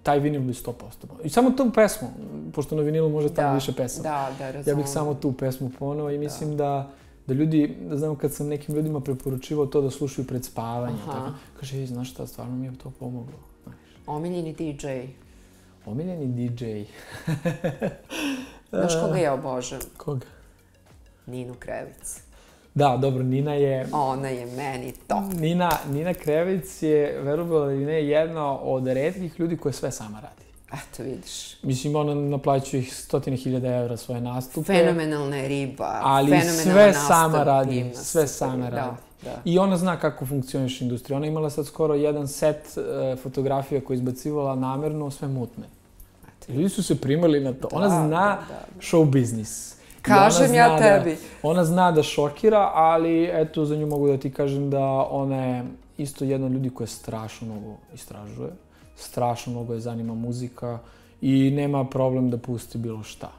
Taj vinil bi 100%. I samo tu pesmu, pošto na vinilu može tamo više pesama. Ja bih samo tu pesmu poneo i mislim da ljudi, da znam kad sam nekim ljudima preporučivao to da slušaju pred spavanje. Kaže, znaš šta, stvarno mi je to pomoglo. Omiljeni DJ. Omiljeni DJ. Znaš koga ja obožavam? Koga? Ninu Krevic. Da, dobro, Nina je... Ona je meni top. Nina Krevic je, verovala ili ne, jedna od retkih ljudi koja sve sama radi. Eto, vidiš. Mislim, ona naplaćuje ih 100.000 evra svoje nastupe. Fenomenalna je riba, ali sve sama radi, sve sama radi. I ona zna kako funkcioniš industrija. Ona imala sad skoro jedan set fotografija koje je izbacivala namerno, sve mutne. Ljudi su se primali na to. Ona zna show biznis. Kažem ja tebi. Ona zna da šokira, ali eto, za nju mogu da ti kažem da ona je isto jedna od ljudi koja strašno mnogo istražuje. Strašno mnogo je zanima muzika i nema problem da pusti bilo šta.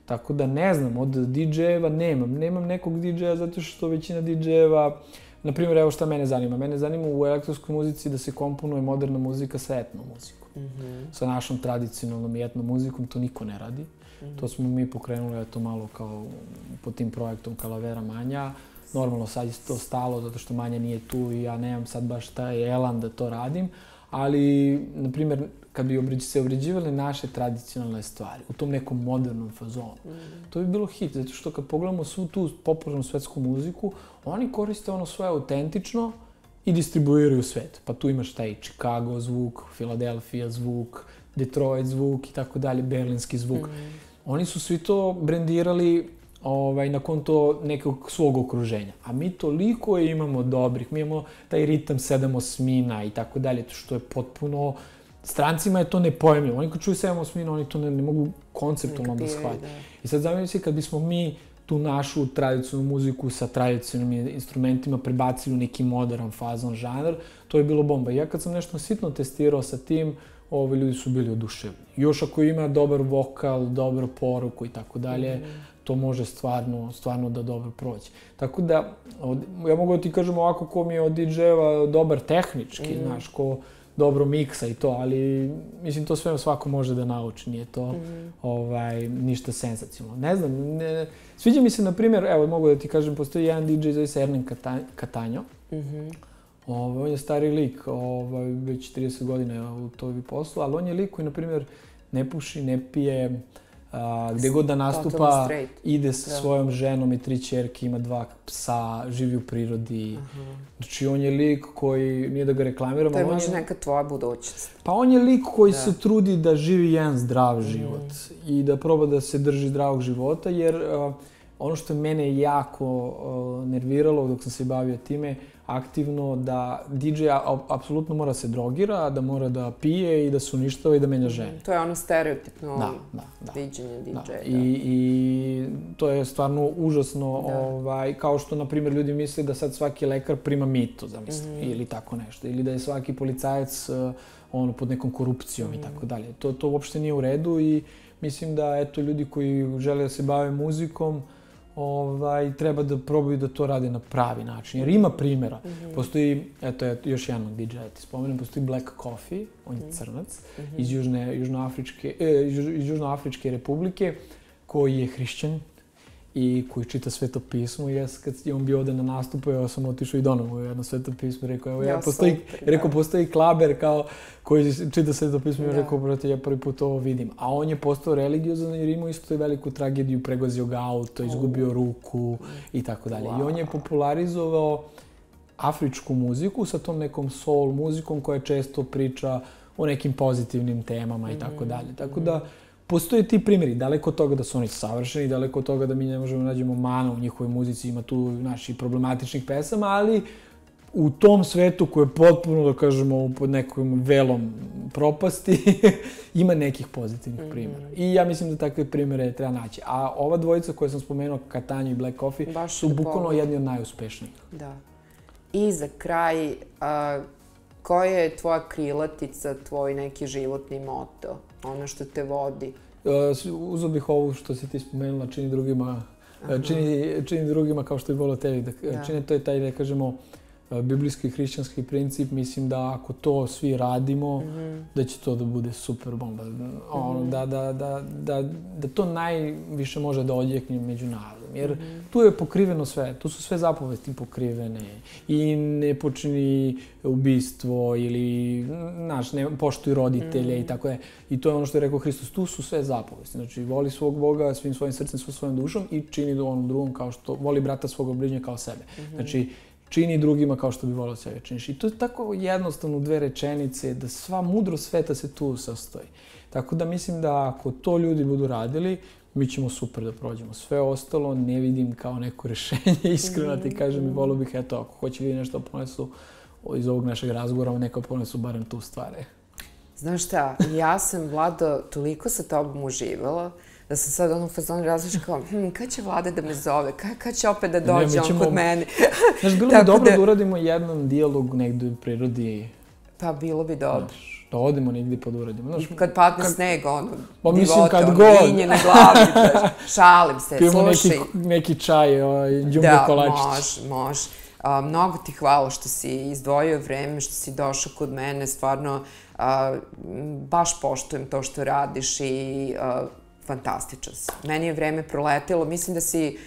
Tako da ne znam, od DJ-eva nemam nekog DJ-a zato što većina DJ-eva, na primjer, evo šta mene zanima. Mene zanima u elektronskoj muzici da se komponuje moderna muzika sa etno muzikom. Sa našom tradicionalnom i etno muzikom to niko ne radi. To smo mi pokrenuli, eto, malo kao pod tim projektom Kalavera Manja. Normalno sad je to stalo zato što Manja nije tu i ja nemam sad baš taj elan da to radim. Ali, na primjer, kad bi se obrađivali naše tradicionalne stvari u tom nekom modernom fazonu, to bi bilo hit. Zato što kad pogledamo svu tu popularnu svetsku muziku, oni koriste ono svoje autentično i distribuiraju svet. Pa tu imaš taj Chicago zvuk, Philadelphia zvuk, Detroit zvuk i tako dalje, berlinski zvuk. Oni su svi to brendirali na konto nekog svog okruženja. A mi toliko imamo dobrih, mi imamo taj ritam 7/8 i tako dalje, što je potpuno... Strancima je to nepojemljivo. Oni kad čuju 7/8, oni to ne mogu konceptualno da shvate. I sad zamislite kad bismo mi tu našu tradicionalnu muziku sa tradicionalnim instrumentima prebacili u neki modern fazon žanar, to je bilo bomba. Ja kad sam nešto sitno testirao sa tim, ljudi su bili oduševljeni. Još ako ima dobar vokal, dobru poruku i tako dalje, to može stvarno da dobro proći. Tako da, ja mogu da ti kažem ovako ko mi je od DJ-eva dobar tehnički, znaš, ko dobro miksa i to, ali mislim to sve svako može da nauči, nije to ništa senzacionalno. Ne znam, sviđa mi se, na primjer, evo mogu da ti kažem, postoji jedan DJ zove se Ernen Catanjo. On je stari lik, već 30 godina u toj poslu, ali on je lik koji, na primjer, ne puši, ne pije, gdje god da nastupa, ide sa svojom ženom i 3 ćerke, ima 2 psa, živi u prirodi. Znači, on je lik koji, nije da ga reklamiramo, to je možda neka tvoja budućnost. Pa on je lik koji se trudi da živi jedan zdrav život i da proba da se drži zdravog života, jer ono što je mene jako nerviralo dok sam se bavio time, aktivno, da DJ apsolutno mora se drogira, da mora da pije i da se uništava i da menja žene. To je ono stereotipno viđenje DJ-a. I to je stvarno užasno, kao što, na primjer, ljudi misle da sad svaki lekar prima mito, zamislim, ili tako nešto, ili da je svaki policajac pod nekom korupcijom i tako dalje. To uopšte nije u redu i mislim da, eto, ljudi koji žele da se bave muzikom, treba da probaju da to rade na pravi način, jer ima primjera. Postoji, eto, još jedan od DJ-a ti spomenem, postoji Black Coffee, on je crnac, iz Južnoafričke republike, koji je hrišćan i koji čita Sveto pismo. I kad je on bio ovde na nastupu, ja sam otišao i donao mu jedno Sveto pismo. Rekao, postoji klaber koji čita Sveto pismo. I rekao, brate, ja prvi put ovo vidim. A on je postao religiozan jer imao isto veliku tragediju, pregazio ga auto, izgubio ruku i tako dalje. I on je popularizovao afričku muziku sa tom nekom soul muzikom koja često priča o nekim pozitivnim temama i tako dalje. Tako da postoje ti primjeri, daleko od toga da su oni savršeni, daleko od toga da mi ne možemo nađemo mana u njihovoj muzici, ima tu naših problematičnih pesama, ali u tom svetu koji je potpuno, da kažemo, pod nekom velom propasti, ima nekih pozitivnih primjera. I ja mislim da takve primjere treba naći. A ova dvojica koje sam spomenuo, Catania i Black Coffee, su bukvalno jedni od najuspešnijih. Da. I za kraj, koja je tvoja krilatica, tvoj neki životni moto? Ono što te vodi? Uzeo bih ovu što si ti spomenula, čini drugima kao što je bilo tebi. Čini to je taj, da kažemo, biblijski i hrišćanski princip. Mislim da ako to svi radimo, da će to da bude super bomba. Da to najviše može da odjekne među narodom. Jer tu je pokriveno sve, tu su sve zapovesti pokrivene. I ne počini ubistvo ili, znaš, ne poštuj roditelje i tako je. I to je ono što je rekao Hristos, tu su sve zapovesti. Znači, voli svog Boga svim svojim srcem, svojom dušom i čini onom drugom kao što, voli brata svog bližnjega kao sebe. Znači, čini drugima kao što bi volio sebe činiš. I to je tako jednostavno 2 rečenice, da sva mudrost sveta se tu sastoji. Tako da mislim da ako to ljudi budu radili, mi ćemo super da prođemo. Sve ostalo ne vidim kao neko rešenje, iskreno ti kažem i volio bih, eto, ako hoće ljudi nešto ponesu iz ovog našeg razgovora, neka ponesu barem tu stvari. Znaš šta, ja sam, Vlado, toliko sa tobom uživala, da sam sad ono fazonu različila kao, kad će Vlada da me zove, kad će opet da dođe on kod mene? Znaš, bilo bi dobro da uradimo jedan dijalog negdje u prirodi. Pa bilo bi dobro. Da odemo negdje pa da uradimo. Kad padne sneg, ono, divotom, vinje na glavi, šalim se, slušaj. Pijemo neki čaj, džumbo kolačić. Da, može. Mnogo ti hvala što si izdvojio vreme, što si došao kod mene, stvarno baš poštujem to što radiš i fantastičan si. Meni je vreme proletelo, mislim da si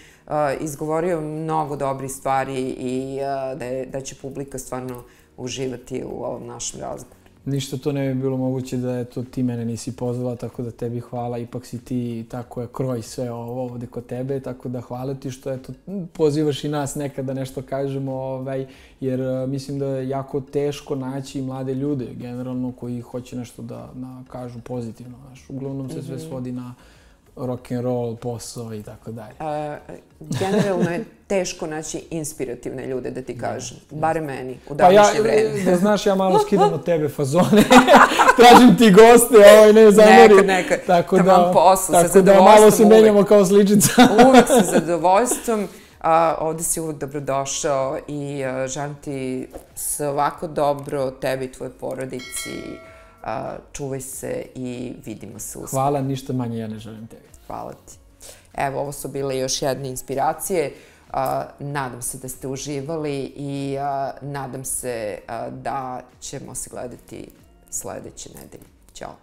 izgovorio mnogo dobrih stvari i da će publika stvarno uživati u ovom našem razgovoru. Ništa to ne bi bilo moguće da ti mene nisi pozvala, tako da tebi hvala. Ipak si ti tako je kroj sve ovo ovde kod tebe, tako da hvala ti što pozivaš i nas nekad da nešto kažemo, jer mislim da je jako teško naći mlade ljude, generalno, koji hoće nešto da kažu pozitivno. Uglavnom se sve svodi na rock'n'roll, posao i tako dalje. Generalno je teško naći inspirativne ljude, da ti kažem. Bare meni, u današnje vreme. Da znaš, ja malo skidam od tebe fazone. Tražim ti goste, ne zameri. Nekad. Taman poslu, sa zadovoljstvom uvek. Tako da malo se menjamo kao sličica. Uvek sa zadovoljstvom. Ovde si uvek dobrodošao i želim ti sve ovako dobro, tebi i tvojoj porodici. Čuvaj se i vidimo se uskoro. Hvala, ništa manje ja ne želim tebi. Hvala ti. Evo, ovo su bile još jedne inspiracije. Nadam se da ste uživali i nadam se da ćemo se gledati sledeće nedelje. Ćao.